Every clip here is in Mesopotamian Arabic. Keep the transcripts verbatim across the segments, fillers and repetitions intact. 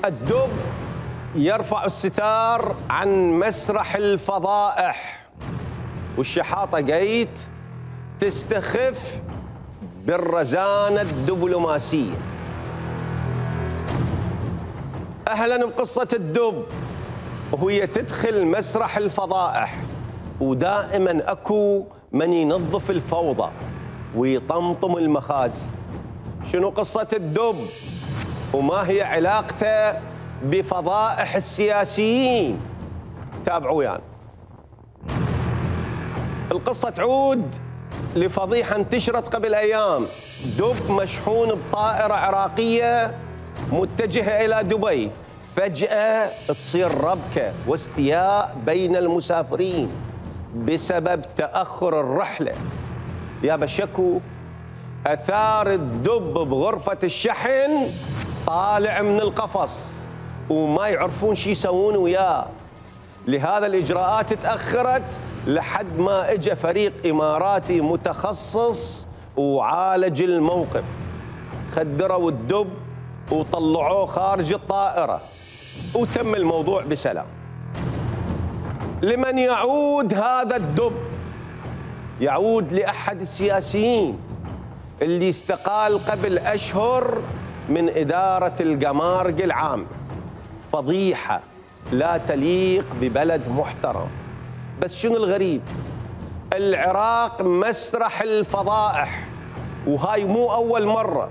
الدب يرفع الستار عن مسرح الفضائح، والشحاطة قيت تستخف بالرزانة الدبلوماسية. أهلاً بقصة الدب وهي تدخل مسرح الفضائح، ودائماً أكو من ينظف الفوضى ويطمطم المخازي. شنو قصة الدب وما هي علاقته بفضائح السياسيين؟ تابعوا ويانا. يعني. القصة تعود لفضيحة انتشرت قبل أيام. دب مشحون بطائرة عراقية متجهة إلى دبي، فجأة تصير ربكة واستياء بين المسافرين بسبب تأخر الرحلة. يا بشكو أثار الدب بغرفة الشحن طالع من القفص وما يعرفون شو يسوون وياه. لهذا الإجراءات تأخرت لحد ما اجى فريق إماراتي متخصص وعالج الموقف. خدروا الدب وطلعوه خارج الطائرة وتم الموضوع بسلام. لمن يعود هذا الدب؟ يعود لأحد السياسيين اللي استقال قبل أشهر من إدارة القمارق العام. فضيحة لا تليق ببلد محترم. بس شنو الغريب؟ العراق مسرح الفضائح، وهاي مو أول مرة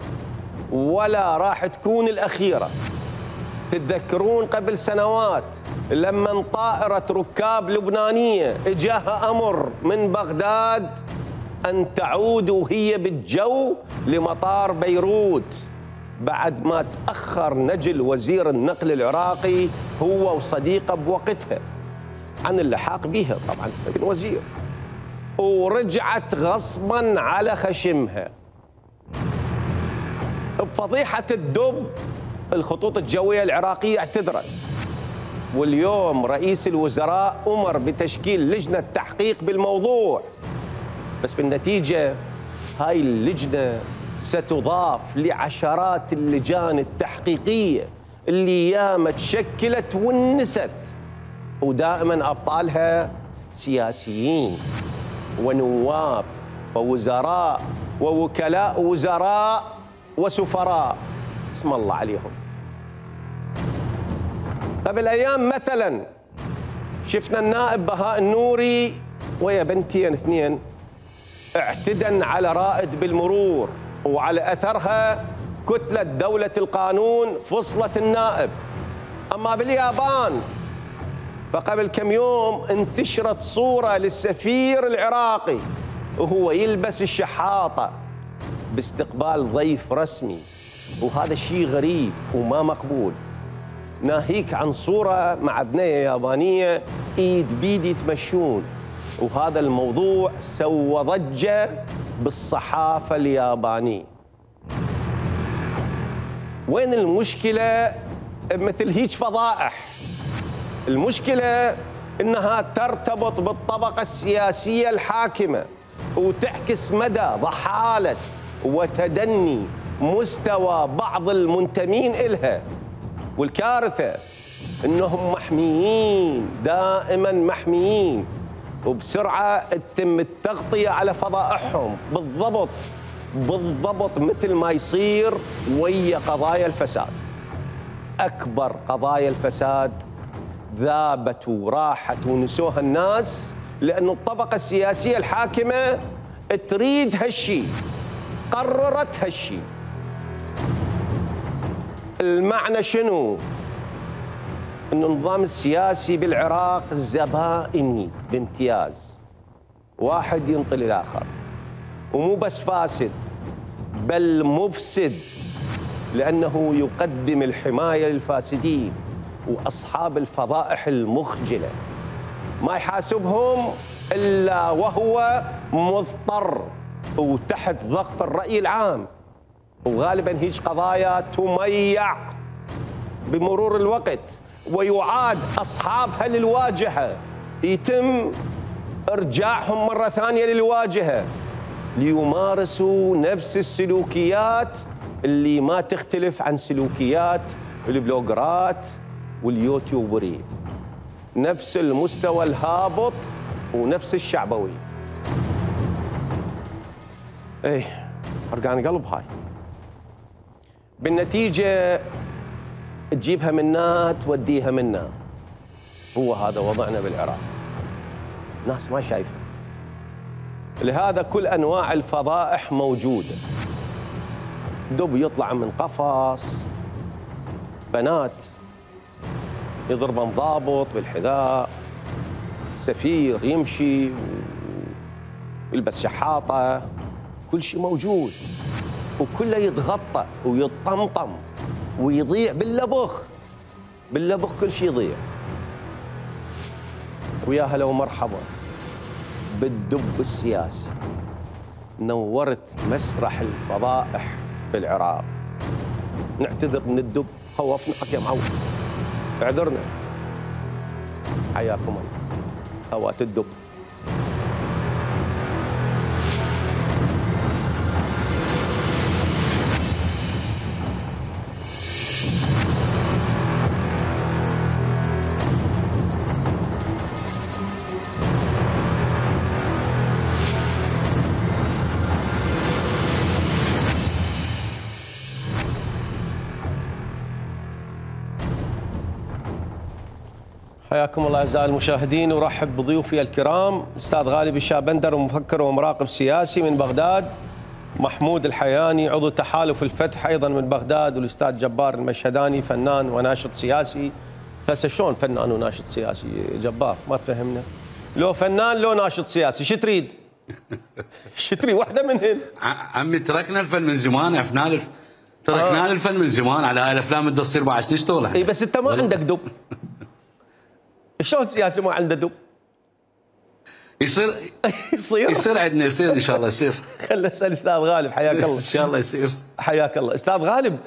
ولا راح تكون الأخيرة. تتذكرون قبل سنوات لما طائرة ركاب لبنانية اجاها أمر من بغداد أن تعود وهي بالجو لمطار بيروت بعد ما تأخر نجل وزير النقل العراقي هو وصديقه بوقتها عن اللحاق بها، طبعا الوزير، ورجعت غصبا على خشمها. بفضيحة الدب الخطوط الجوية العراقية اعتذرت، واليوم رئيس الوزراء أمر بتشكيل لجنة تحقيق بالموضوع. بس بالنتيجة هاي اللجنة ستضاف لعشرات اللجان التحقيقية اللي ياما تشكلت ونست، ودائما أبطالها سياسيين ونواب ووزراء ووكلاء وزراء وسفراء اسم الله عليهم. قبل أيام مثلا شفنا النائب بهاء النوري ويا بنتين اثنين اعتدن على رائد بالمرور، وعلى أثرها كتلة دولة القانون فصلت النائب. أما باليابان فقبل كم يوم انتشرت صورة للسفير العراقي وهو يلبس الشحاطة باستقبال ضيف رسمي، وهذا الشيء غريب وما مقبول. ناهيك عن صورة مع بنية يابانية ايد بيد يتمشون، وهذا الموضوع سوى ضجة بالصحافة اليابانية. وين المشكلة مثل هيج فضائح؟ المشكلة انها ترتبط بالطبقة السياسية الحاكمة وتعكس مدى ضحالة وتدني مستوى بعض المنتمين إلها. والكارثة انهم محميين، دائما محميين، وبسرعة تتم التغطية على فضائحهم بالضبط بالضبط مثل ما يصير ويا قضايا الفساد. أكبر قضايا الفساد ذابت وراحت ونسوها الناس لأن الطبقة السياسية الحاكمة تريد هالشيء، قررت هالشيء. المعنى شنو؟ أن النظام السياسي بالعراق زبائني بامتياز، واحد ينطي الآخر، ومو بس فاسد بل مفسد، لأنه يقدم الحماية للفاسدين وأصحاب الفضائح المخجلة، ما يحاسبهم إلا وهو مضطر وتحت ضغط الرأي العام. وغالبا هيج قضايا تميع بمرور الوقت ويعاد أصحابها للواجهة، يتم إرجاعهم مرة ثانية للواجهة ليمارسوا نفس السلوكيات اللي ما تختلف عن سلوكيات البلوجرات واليوتيوبرين، نفس المستوى الهابط ونفس الشعبوي. ايه حرقان قلب هاي. بالنتيجة تجيبها منا توديها منا. هو هذا وضعنا بالعراق. ناس ما شايفة. لهذا كل أنواع الفضائح موجودة. دب يطلع من قفص، بنات يضربن ضابط بالحذاء، سفير يمشي ويلبس شحاطة، كل شيء موجود وكله يتغطى ويطمطم ويضيع باللبخ. باللبخ كل شيء يضيع. ويا هلا ومرحبا بالدب السياسي. نورت مسرح الفضائح بالعراق. نعتذر من الدب، خوفنا حق يا معود، اعذرنا. حياكم الله. هوات الدب. حياكم الله اعزائي المشاهدين، ورحب بضيوفي الكرام الاستاذ غالب الشابندر، مفكر ومراقب سياسي من بغداد، محمود الحياني عضو تحالف الفتح ايضا من بغداد، والاستاذ جبار المشهداني فنان وناشط سياسي. هسه شلون فنان وناشط سياسي جبار؟ ما تفهمنا. لو فنان لو ناشط سياسي شو تريد؟ شو تريد واحده منهن؟ عمي تركنا الفن من زمان، عرفنا الف... تركنا آه. الفن من زمان على هاي الافلام اللي تصير بعد نشتغل. اي بس انت ما عندك دب. شلون سياسي ما عنده دب؟ يصير يصير يصير عندنا، يصير ان شاء الله يصير. خلنا نسال استاذ غالب. حياك الله. ان شاء الله يصير. حياك الله استاذ غالب.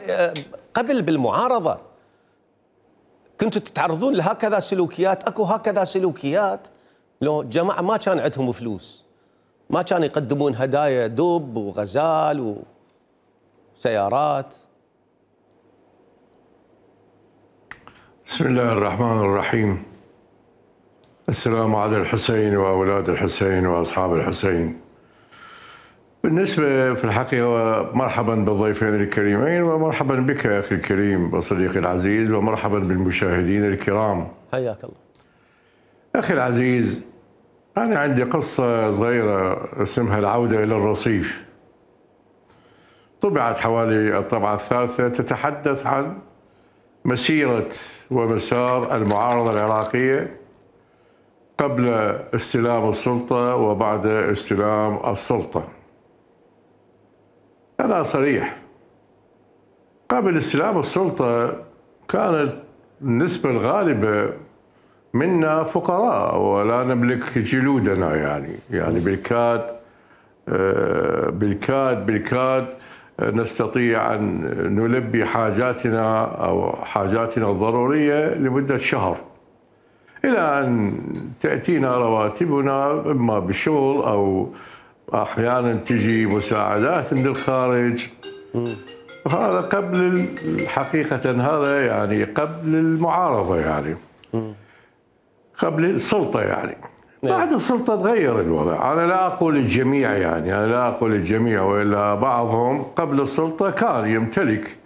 قبل بالمعارضه كنتوا تتعرضون لهكذا سلوكيات؟ اكو هكذا سلوكيات؟ لو جماعه ما كان عندهم فلوس ما كانوا يقدمون هدايا دب وغزال وسيارات؟ بسم الله الرحمن الرحيم. السلام على الحسين وأولاد الحسين وأصحاب الحسين. بالنسبة في الحقيقة مرحبا بالضيفين الكريمين، ومرحبا بك أخي الكريم وصديقي العزيز، ومرحبا بالمشاهدين الكرام. حياك الله. أخي العزيز، أنا عندي قصة صغيرة اسمها العودة إلى الرصيف. طبعت حوالي الطبعة الثالثة، تتحدث عن مسيرة ومسار المعارضة العراقية قبل استلام السلطة وبعد استلام السلطة. أنا صريح، قبل استلام السلطة كانت النسبة الغالبة منا فقراء ولا نملك جلودنا، يعني يعني بالكاد بالكاد بالكاد نستطيع أن نلبي حاجاتنا أو حاجاتنا الضرورية لمدة شهر، إلى أن تأتينا رواتبنا إما بالشغل أو أحيانا تجي مساعدات من الخارج. هذا قبل حقيقة، هذا يعني قبل المعارضة، يعني قبل السلطة. يعني بعد السلطة تغير الوضع. أنا لا أقول الجميع، يعني أنا لا أقول الجميع، وإلا بعضهم قبل السلطة كان يمتلك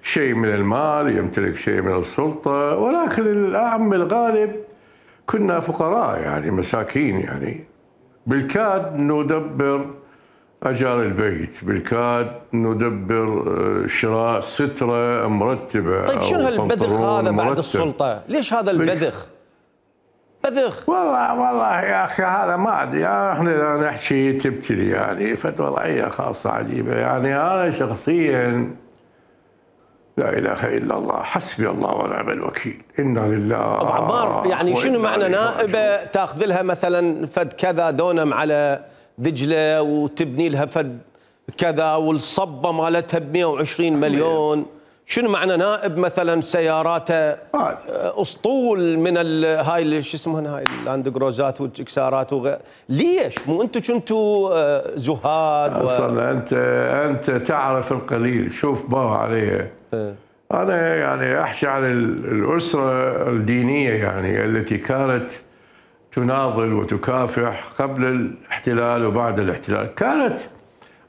شيء من المال، يمتلك شيء من السلطة، ولكن الأعم الغالب كنا فقراء، يعني مساكين. يعني بالكاد ندبر أجار البيت، بالكاد ندبر شراء سترة مرتبة. طيب شنو هالبذخ هذا بعد السلطة؟ ليش هذا البذخ؟ بذخ. والله والله يا اخي هذا ما ادري، يعني احنا نحكي تبتلي، يعني وضعيه خاصه عجيبه. يعني انا شخصيا لا اله الا الله، حسبي الله ونعم الوكيل، انا لله. ابو عمار، يعني شنو معنى نائبه تاخذ لها مثلا فد كذا دونم على دجله وتبني لها فد كذا والصبه مالتها ب مئة وعشرين مليون؟ شنو معنى نائب مثلا سياراته اسطول من هاي شو اسمها هاي اللاند كروزات والجكسارات وغير؟ ليش؟ مو انتم كنتوا زهاد؟ اصلا و... انت انت تعرف القليل. شوف باه عليه. أنا يعني أحكي عن الأسرة الدينية يعني التي كانت تناضل وتكافح قبل الاحتلال وبعد الاحتلال. كانت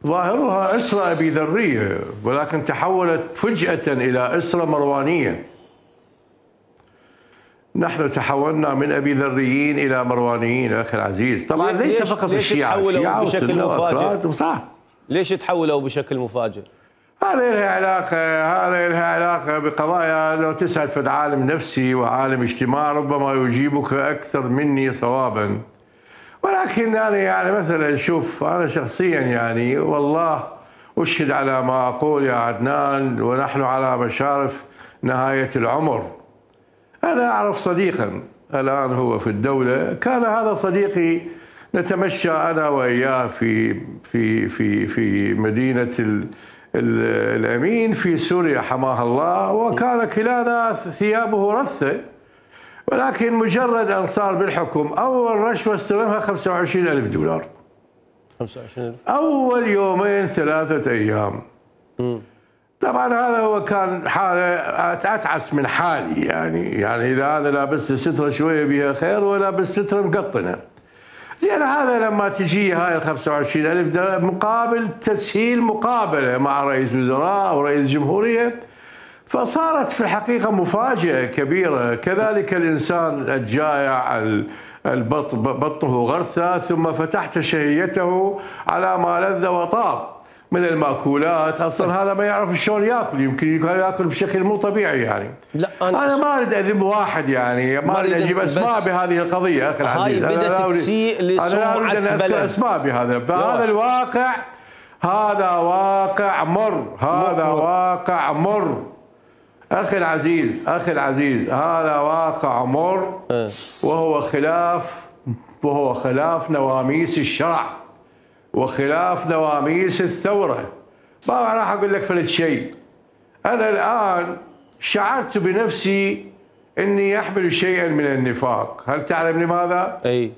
ظاهرها أسرة أبي ذرية، ولكن تحولت فجأة إلى أسرة مروانية. نحن تحولنا من أبي ذريين إلى مروانيين أخي العزيز. طبعا ليس ليش فقط ليش الشيعة، تحولوا بشكل مفاجئ؟ صح. ليش تحولوا بشكل مفاجئ؟ هذه لها علاقة هذه لها علاقة بقضايا. لو تسأل في عالم نفسي وعالم اجتماع ربما يجيبك أكثر مني صوابا، ولكن أنا يعني مثلا شوف، أنا شخصيا يعني والله أشهد على ما أقول يا عدنان، ونحن على مشارف نهاية العمر. أنا أعرف صديقا الآن هو في الدولة، كان هذا صديقي نتمشى أنا وإياه في في في في مدينة ال الأمين في سوريا حماها الله، وكان كلانا ثيابه رثة، ولكن مجرد أن صار بالحكم أول رشوة استلمها خمسة وعشرين ألف دولار. خمسة وعشرين ألف أول يومين ثلاثة أيام. م. طبعا هذا هو كان حالة أتعس من حالي يعني يعني إذا هذا لابس سترة شوية بها خير ولابس سترة مقطنة. زين هذا لما تجي هاي ال خمسة وعشرين ألف دولار مقابل تسهيل مقابلة مع رئيس وزراء أو رئيس جمهورية، فصارت في الحقيقة مفاجأة كبيرة. كذلك الإنسان الجائع البطن بطنه غرثة، ثم فتحت شهيته على ما لذ وطاب من المأكولات، أصلا هذا ما يعرف شلون ياكل، يمكن ياكل بشكل مو طبيعي يعني. لا أنا, أنا ما أريد أذم واحد يعني، ما أريد أجيب أسماء بهذه القضية أخي العزيز. هاي بدأت تسيء لسمعة بلد. أنا لا أريد أن أذكر أسماء بهذا، فهذا الواقع هذا واقع مر، هذا مر. واقع مر أخي العزيز، أخي العزيز هذا واقع مر، وهو خلاف وهو خلاف نواميس الشرع وخلاف نواميس الثورة. ما راح أقول لك فلت شيء. أنا الآن شعرت بنفسي أني أحمل شيئا من النفاق. هل تعلم لماذا؟ أي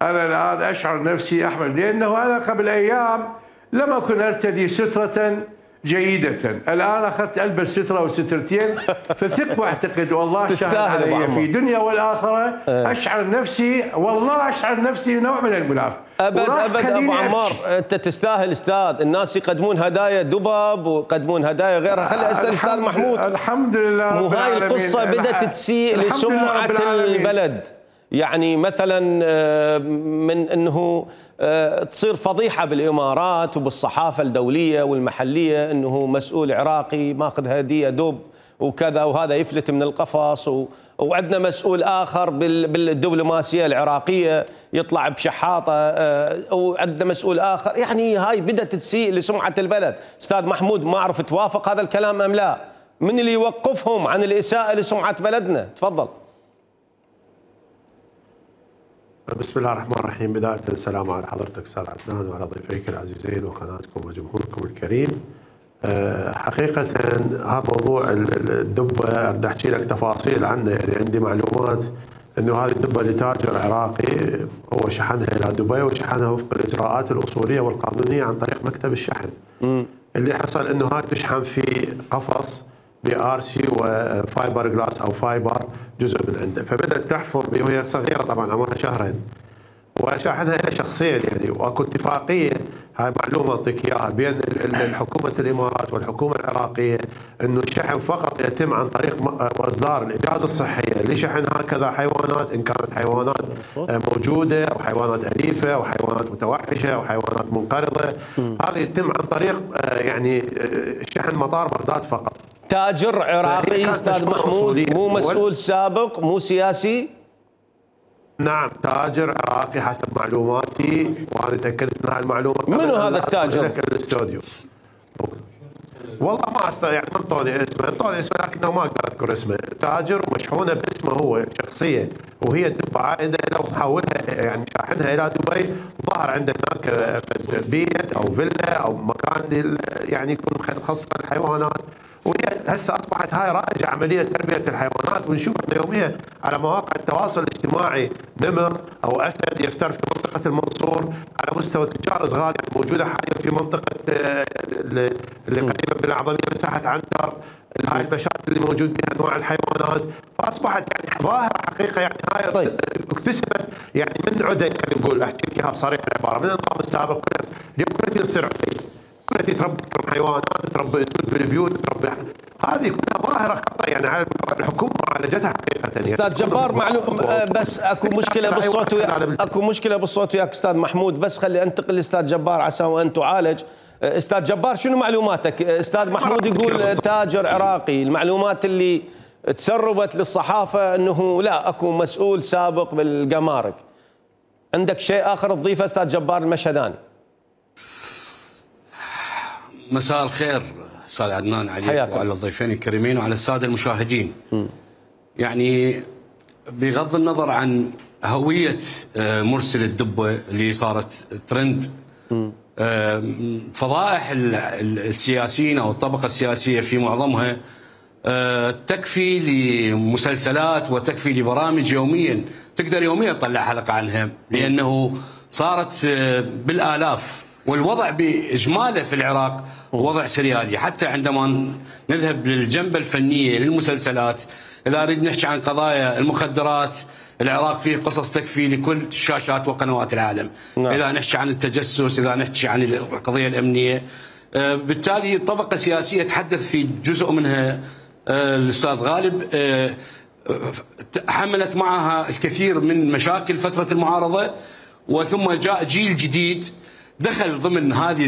أنا الآن أشعر نفسي أحمل، لأنه أنا قبل أيام لم أكن أرتدي سترة جيدة، الآن أخذت ألبس سترة وسترتين، فثق واعتقد والله شاهد علي في دنيا والآخرة. أشعر نفسي والله أشعر نفسي نوع من المنافق. أبد أبد أبو عمار، أنت تستاهل أستاذ. الناس يقدمون هدايا دبب ويقدمون هدايا غيرها. خلي أسأل أستاذ محمود. الحمد لله. مو هاي القصة بدأت تسيء لسمعة البلد، يعني مثلا من أنه تصير فضيحة بالإمارات وبالصحافة الدولية والمحلية أنه مسؤول عراقي ماخذ هدية دب وكذا، وهذا يفلت من القفص، و... وعندنا مسؤول آخر بالدبلوماسية العراقية يطلع بشحاطة، وعندنا مسؤول آخر. يعني هاي بدأت تسيء لسمعة البلد. أستاذ محمود، ما أعرف توافق هذا الكلام أم لا؟ من اللي يوقفهم عن الإساءة لسمعة بلدنا؟ تفضل. بسم الله الرحمن الرحيم. بداية السلام على حضرتك أستاذ عدنان وعلى ضيفيك العزيزين وقناتكم وجمهوركم الكريم. حقيقة هذا موضوع الدبة بدي أحكي لك تفاصيل عنه. يعني عندي معلومات إنه هذه الدبة لتاجر عراقي هو شحنها إلى دبي وشحنها وفق الإجراءات الأصولية والقانونية عن طريق مكتب الشحن. م. اللي حصل إنه هاي تشحن في قفص بآر سي وفايبر جلاس أو فايبر جزء من عنده، فبدأت تحفر به وهي صغيرة طبعا عمرها شهرين، وشاحنها إلى شخصين يعني. واكو اتفاقية، هاي معلومة أعطيك إياها، بين الحكومة الإمارات والحكومة العراقية إنه الشحن فقط يتم عن طريق إصدار الإجازة الصحية لشحن هكذا حيوانات، إن كانت حيوانات موجودة أو حيوانات أليفة أو حيوانات متوحشة أو حيوانات منقرضة. هذا يتم عن طريق يعني شحن مطار بغداد فقط. تاجر عراقي أستاذ محمود، مو مسؤول سابق، مو سياسي؟ نعم، تاجر عراقي حسب معلوماتي، وانا تاكدت من هاي المعلومه. منو هذا التاجر؟ الاستوديو والله ما استطيع يعني ما انطوني اسمه، انطوني اسمه لكنه ما اقدر اذكر اسمه. تاجر ومشحونه باسمه هو شخصيه، وهي الدبه عائده له محولها يعني شاحنها الى دبي. ظهر عنده هناك بيت او فيلا او مكان يعني يكون مخصص للحيوانات، وهي هسه اصبحت هاي رائجه عمليه تربيه الحيوانات، ونشوف يوميا على مواقع التواصل الاجتماعي نمر او اسد يفتر في منطقه المنصور، على مستوى تجار صغار موجوده حاليا في منطقه اللي قريبه من الاعظميه مساحه عنتر، هاي المشات اللي موجود بها انواع الحيوانات، فاصبحت يعني ظاهره حقيقه يعني هاي طيب. اكتسبت يعني من عده، يعني نقول احكي لك اياها بصريح العباره، من النظام السابق كلها اليوم كلها تصير عقيل، كلها تربي حيوانات، تربي اسود بالبيوت، تربي هذه كلها ظاهره خطا يعني على الحكومه معالجتها حقيقه. استاذ جبار معلوم بس اكو مشكله بالصوت وياك، اكو مشكله بالصوت وياك استاذ محمود، بس خلي انتقل لاستاذ جبار عسى وان تعالج. استاذ جبار شنو معلوماتك؟ استاذ محمود يقول تاجر عراقي، المعلومات اللي تسربت للصحافه انه لا اكو مسؤول سابق بالجمارك. عندك شيء اخر تضيفه استاذ جبار المشهداني؟ مساء الخير استاذ عدنان عليك وعلى الضيفين الكريمين وعلى الساده المشاهدين. م. يعني بغض النظر عن هويه مرسل الدبه اللي صارت ترند، م. فضائح السياسيين او الطبقه السياسيه في معظمها تكفي لمسلسلات وتكفي لبرامج يوميا، تقدر يوميا تطلع حلقه عنها، لانه صارت بالالاف، والوضع باجماله في العراق وضع سريالي. حتى عندما نذهب للجنبه الفنيه للمسلسلات، اذا نريد نحكي عن قضايا المخدرات، العراق فيه قصص تكفي لكل شاشات وقنوات العالم. نعم. اذا نحكي عن التجسس، اذا نحكي عن القضيه الامنيه، بالتالي الطبقه السياسيه تحدث في جزء منها الاستاذ غالب، حملت معها الكثير من مشاكل فتره المعارضه، وثم جاء جيل جديد دخل ضمن هذه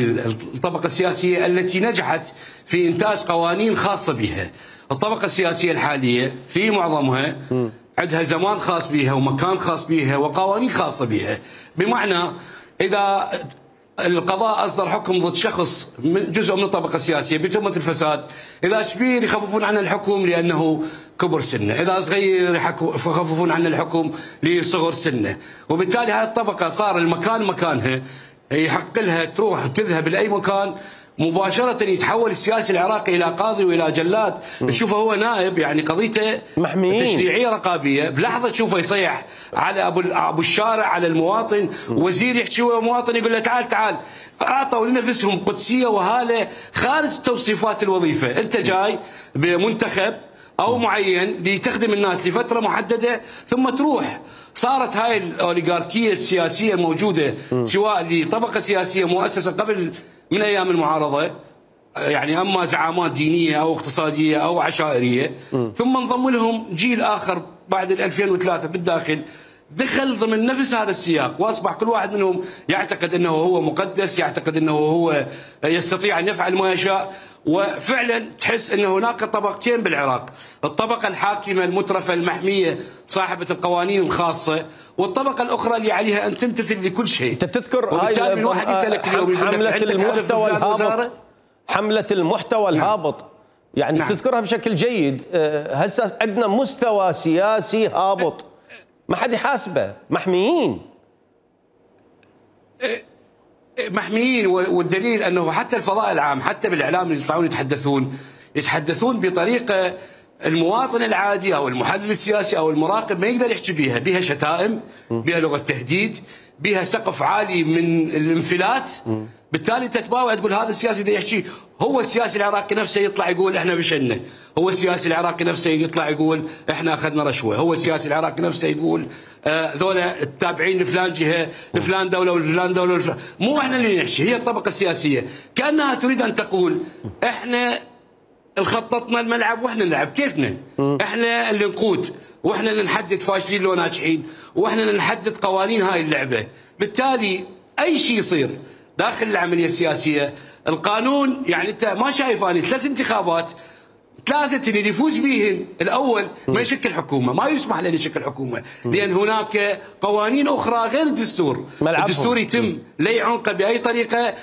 الطبقة السياسية التي نجحت في إنتاج قوانين خاصة بها. الطبقة السياسية الحالية في معظمها عندها زمان خاص بها ومكان خاص بها وقوانين خاصة بها، بمعنى إذا القضاء أصدر حكم ضد شخص من جزء من الطبقة السياسية بتهمة الفساد، إذا كبير يخففون عنه الحكم لأنه كبر سنه، إذا صغير يخففون عنه الحكم لصغر سنه، وبالتالي هذه الطبقة صار المكان مكانها، يحق لها تروح تذهب لاي مكان مباشره، يتحول السياسي العراقي الى قاضي والى جلاد، تشوفه هو نائب، يعني قضيته محميين تشريعيه رقابيه، بلحظه تشوفه يصيح على ابو ابو الشارع على المواطن، وزير يحكي ويا مواطن يقول له تعال تعال، اعطوا لنفسهم قدسيه وهاله خارج توصيفات الوظيفه، انت جاي بمنتخب او معين لتخدم الناس لفتره محدده ثم تروح. صارت هاي الاوليغاركيه السياسيه الموجوده سواء لطبقه سياسيه مؤسسه قبل من ايام المعارضه، يعني اما زعامات دينيه او اقتصاديه او عشائريه، ثم انضم لهم جيل اخر بعد ألفين وثلاثة بالداخل، دخل ضمن نفس هذا السياق، واصبح كل واحد منهم يعتقد انه هو مقدس، يعتقد انه هو يستطيع ان يفعل ما يشاء. وفعلا تحس ان هناك طبقتين بالعراق، الطبقه الحاكمه المترفه المحميه صاحبه القوانين الخاصه، والطبقه الاخرى اللي عليها ان تمتثل لكل شيء. انت تذكر هاي من واحد يسالك اليوم حمله المحتوى الهابط، حمله المحتوى الهابط، يعني نعم. تذكرها بشكل جيد. هسه عندنا مستوى سياسي هابط، ما حد يحاسبه، محميين محميين، والدليل انه حتى الفضاء العام، حتى بالاعلام اللي يطلعون يتحدثون يتحدثون بطريقه المواطن العادي او المحلل السياسي او المراقب ما يقدر يحكي بها، بها شتائم، بها لغه تهديد، بها سقف عالي من الانفلات. بالتالي تتباوع تقول هذا السياسي ده يحكي، هو السياسي العراقي نفسه يطلع يقول احنا بشنا، هو السياسي العراقي نفسه يطلع يقول احنا اخذنا رشوه، هو السياسي العراقي نفسه يقول آه ذولا التابعين لفلان جهه لفلان دوله ولفلان دوله ولفلان. مو احنا اللي نحكي، هي الطبقه السياسيه كانها تريد ان تقول احنا خططنا الملعب واحنا نلعب كيفنا، احنا اللي نقود واحنا اللي نحدد فاشلين لو ناجحين، واحنا اللي نحدد قوانين هاي اللعبه. بالتالي اي شيء يصير داخل العمليه السياسيه، القانون يعني انت ما شايف اني ثلاث انتخابات ثلاثه اللي يفوز بيهن الاول ما يشكل حكومه، ما يسمح له يشكل حكومه، لان هناك قوانين اخرى غير الدستور، الدستور يتم لي عنقه باي طريقه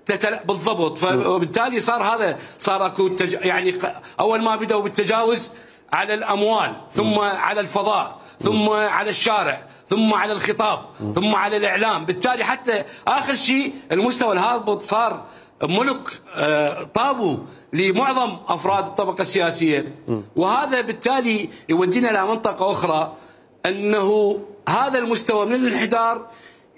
تتل... بالضبط، فبالتالي صار هذا صار اكو تج... يعني اول ما بداوا بالتجاوز على الاموال، ثم على الفضاء، ثم على الشارع، ثم على الخطاب، ثم على الاعلام، بالتالي حتى اخر شيء المستوى الهابط صار ملك طابوا لمعظم أفراد الطبقة السياسية، وهذا بالتالي يودينا إلى منطقة أخرى، أنه هذا المستوى من الانحدار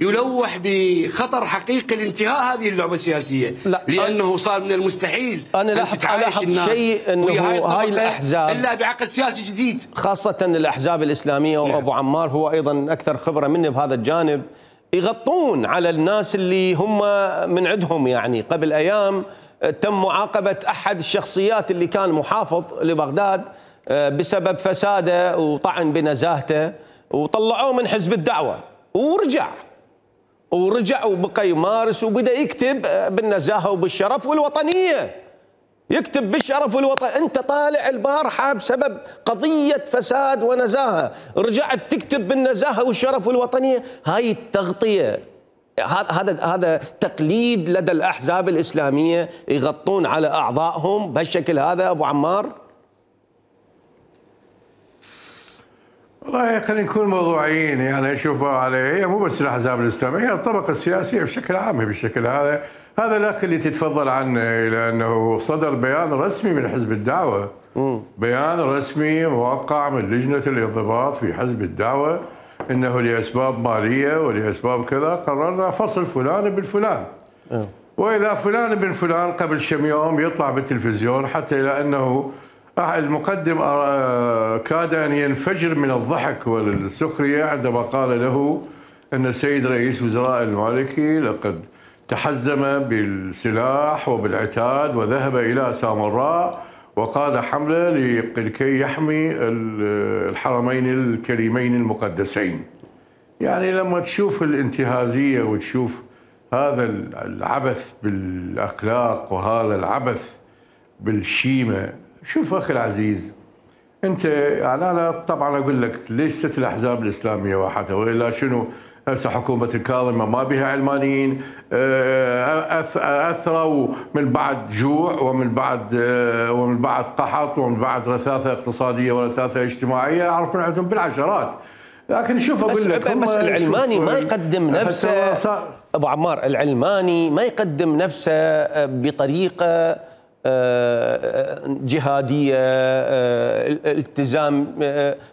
يلوح بخطر حقيقي لانتهاء هذه اللعبة السياسية، لا لأنه صار من المستحيل أنا لاحظ ألاحظ شيء أنه هاي الأحزاب إلا بعقد سياسي جديد، خاصة الأحزاب الإسلامية. نعم. وأبو عمار هو أيضا أكثر خبرة مني بهذا الجانب، يغطون على الناس اللي هم من عندهم. يعني قبل أيام تم معاقبة أحد الشخصيات اللي كان محافظ لبغداد بسبب فساده وطعن بنزاهته، وطلعوه من حزب الدعوة ورجع ورجع وبقى يمارس وبدأ يكتب بالنزاهة وبالشرف والوطنية، يكتب بالشرف والوطن. أنت طالع البارحة بسبب قضية فساد ونزاهة، رجعت تكتب بالنزاهة والشرف والوطنية. هاي التغطية، هذا هذا تقليد لدى الأحزاب الإسلامية، يغطون على أعضائهم بهالشكل هذا. أبو عمار والله خلينا نكون موضوعيين، يعني شوفوا عليه، هي مو بس الاحزاب الاسلاميه، هي الطبقه السياسيه بشكل عام بالشكل هذا. هذا الاخ اللي تتفضل عنه، لانه صدر بيان رسمي من حزب الدعوه، م. بيان رسمي موقع من لجنه الانضباط في حزب الدعوه، انه لاسباب ماليه ولاسباب كذا قررنا فصل فلان بن فلان. م. واذا فلان بن فلان قبل كم يوم يطلع بالتلفزيون، حتى الى انه المقدم كاد أن ينفجر من الضحك والسخرية عندما قال له أن السيد رئيس وزراء المالكي لقد تحزم بالسلاح وبالعتاد وذهب إلى سامراء وقاد حملة لكي يحمي الحرمين الكريمين المقدسين. يعني لما تشوف الانتهازية وتشوف هذا العبث بالأخلاق وهذا العبث بالشيمة، شوف أخي العزيز، أنت يعني أنا طبعا أقول لك ليست الأحزاب الإسلامية وحدها، وإلا شنو هسه حكومة الكاظمة ما بها علمانيين، أثروا من بعد جوع ومن بعد ومن بعد قحط ومن بعد رثاثة اقتصادية ورثاثة اجتماعية، أعرف من عندهم بالعشرات. لكن شوف أقول بس لك بس العلماني ما يقدم نفسه أبو عمار، العلماني ما يقدم نفسه بطريقة جهادية، التزام،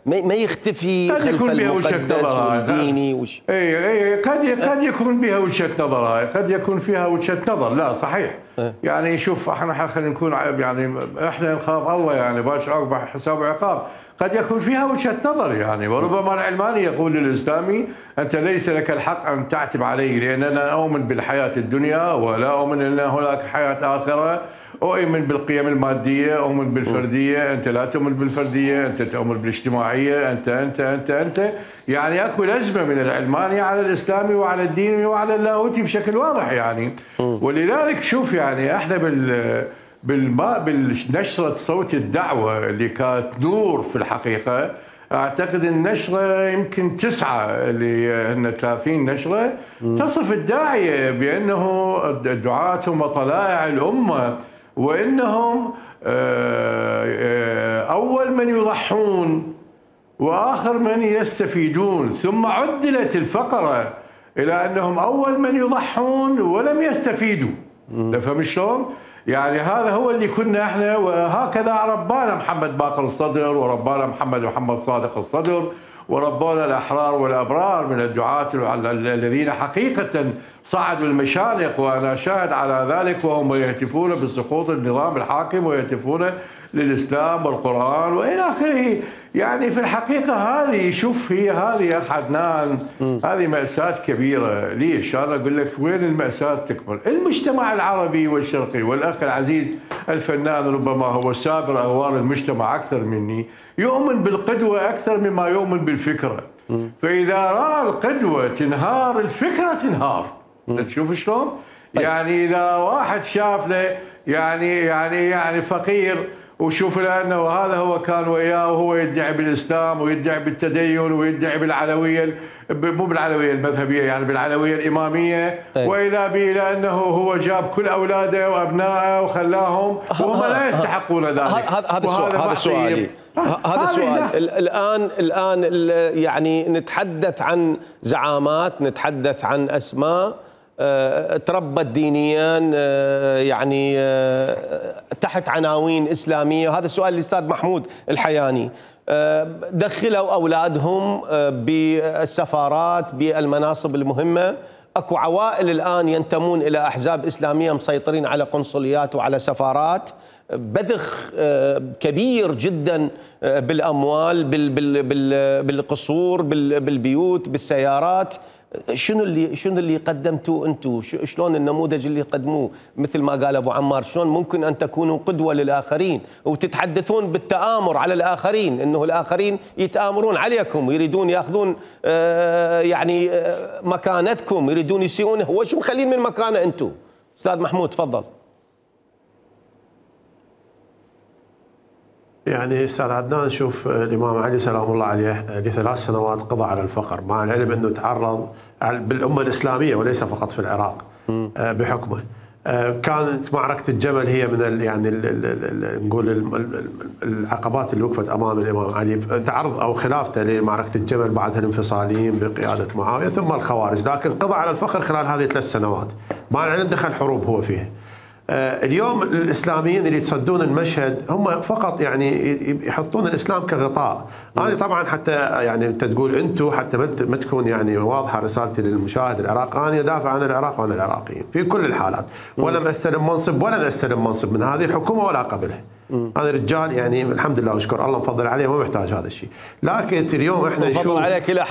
ما يختفي خلف المقدس والديني وش... اي اي قد قد يكون بها وجهة نظر، هاي قد يكون فيها وجهة نظر، لا صحيح. يعني شوف احنا خلينا نكون يعني احنا نخاف الله، يعني باش عقب حساب وعقاب، قد يكون فيها وجهة نظر يعني، وربما العلماني يقول للإسلامي أنت ليس لك الحق أن تعتب علي، لأن أنا أؤمن بالحياة الدنيا ولا أؤمن أن هناك حياة آخرة، أؤمن بالقيم المادية، أؤمن بالفردية، أنت لا تؤمن بالفردية، أنت تؤمن بالاجتماعية، أنت أنت أنت أنت يعني أكو لزمة من العلماني على الإسلامي وعلى الديني وعلى اللاهوتي بشكل واضح يعني. ولذلك شوف يعني احنا بال بالما بالنشرة صوت الدعوة اللي كانت نور في الحقيقة، أعتقد النشرة يمكن تسعة اللي هن ثلاثين نشرة تصف الداعية بأنه الدعاة هم طلائع الأمة، وإنهم أول من يضحون وآخر من يستفيدون، ثم عدلت الفقرة إلى أنهم أول من يضحون ولم يستفيدوا. تفهم شلون؟ يعني هذا هو اللي كنا احنا، وهكذا ربانا محمد باقر الصدر، وربانا محمد محمد صادق الصدر، وربانا الأحرار والأبرار من الدعاة الذين حقيقة صعدوا المشانق، وأنا شاهد على ذلك، وهم يهتفون بسقوط النظام الحاكم ويهتفون للإسلام والقرآن وإلى آخره. يعني في الحقيقة هذه شوف هي هذه يا أخ عدنان، هذه مأساة كبيرة. ليش؟ أنا أقول لك وين المأساة تكمن؟ المجتمع العربي والشرقي، والأخ العزيز الفنان ربما هو سابر أغوار المجتمع أكثر مني، يؤمن بالقدوة أكثر مما يؤمن بالفكرة. فإذا رأى القدوة تنهار، الفكرة تنهار. تشوف شلون؟ يعني إذا واحد شاف له يعني يعني يعني فقير وشوف لأنه هذا هو كان وياه وهو يدعي بالإسلام ويدعي بالتدين ويدعي بالعلوية، مو بالعلوية المذهبية، يعني بالعلوية الإمامية، وإذا به لأنه هو جاب كل أولاده وأبنائه وخلاهم وهم لا يستحقون ذلك. هذا السؤال هذا سؤالي هذا السؤال الآن الآن يعني نتحدث عن زعامات، نتحدث عن أسماء تربت دينيا يعني تحت عناوين إسلامية؟ وهذا السؤال للأستاذ محمود الحياني. دخلوا أولادهم بالسفارات بالمناصب المهمة، أكو عوائل الآن ينتمون إلى أحزاب إسلامية مسيطرين على قنصليات وعلى سفارات، بذخ كبير جدا بالأموال بالقصور بالبيوت بالسيارات. شنو اللي شنو اللي قدمتوه انتم؟ شلون النموذج اللي قدموه؟ مثل ما قال ابو عمار، شلون ممكن ان تكونوا قدوه للاخرين وتتحدثون بالتآمر على الاخرين، انه الاخرين يتآمرون عليكم ويريدون ياخذون يعني مكانتكم، يريدون يسيئون. هو شو مخلين من مكانه انتم؟ استاذ محمود تفضل. يعني استاذ عدنان، شوف الامام علي سلام الله عليه لثلاث سنوات قضى على الفقر، مع العلم انه تعرض بالامه الاسلاميه وليس فقط في العراق بحكمه. كانت معركه الجمل هي من يعني نقول العقبات اللي وقفت امام الامام علي، تعرض او خلافته لمعركه الجمل، بعدها الانفصاليين بقياده معاويه ثم الخوارج، لكن قضى على الفقر خلال هذه الثلاث سنوات، مع العلم دخل حروب هو فيها. اليوم الاسلاميين اللي يتصدون المشهد هم فقط يعني يحطون الاسلام كغطاء. انا طبعا حتى يعني انت تقول انتم، حتى ما تكون يعني واضحه رسالتي للمشاهد العراق، انا ادافع عن العراق وعن العراقيين في كل الحالات، ولم استلم منصب ولن استلم منصب من هذه الحكومه ولا قبلها. انا رجال يعني الحمد لله واشكر الله مفضل عليه، ما محتاج هذا الشيء. لكن اليوم احنا نشوف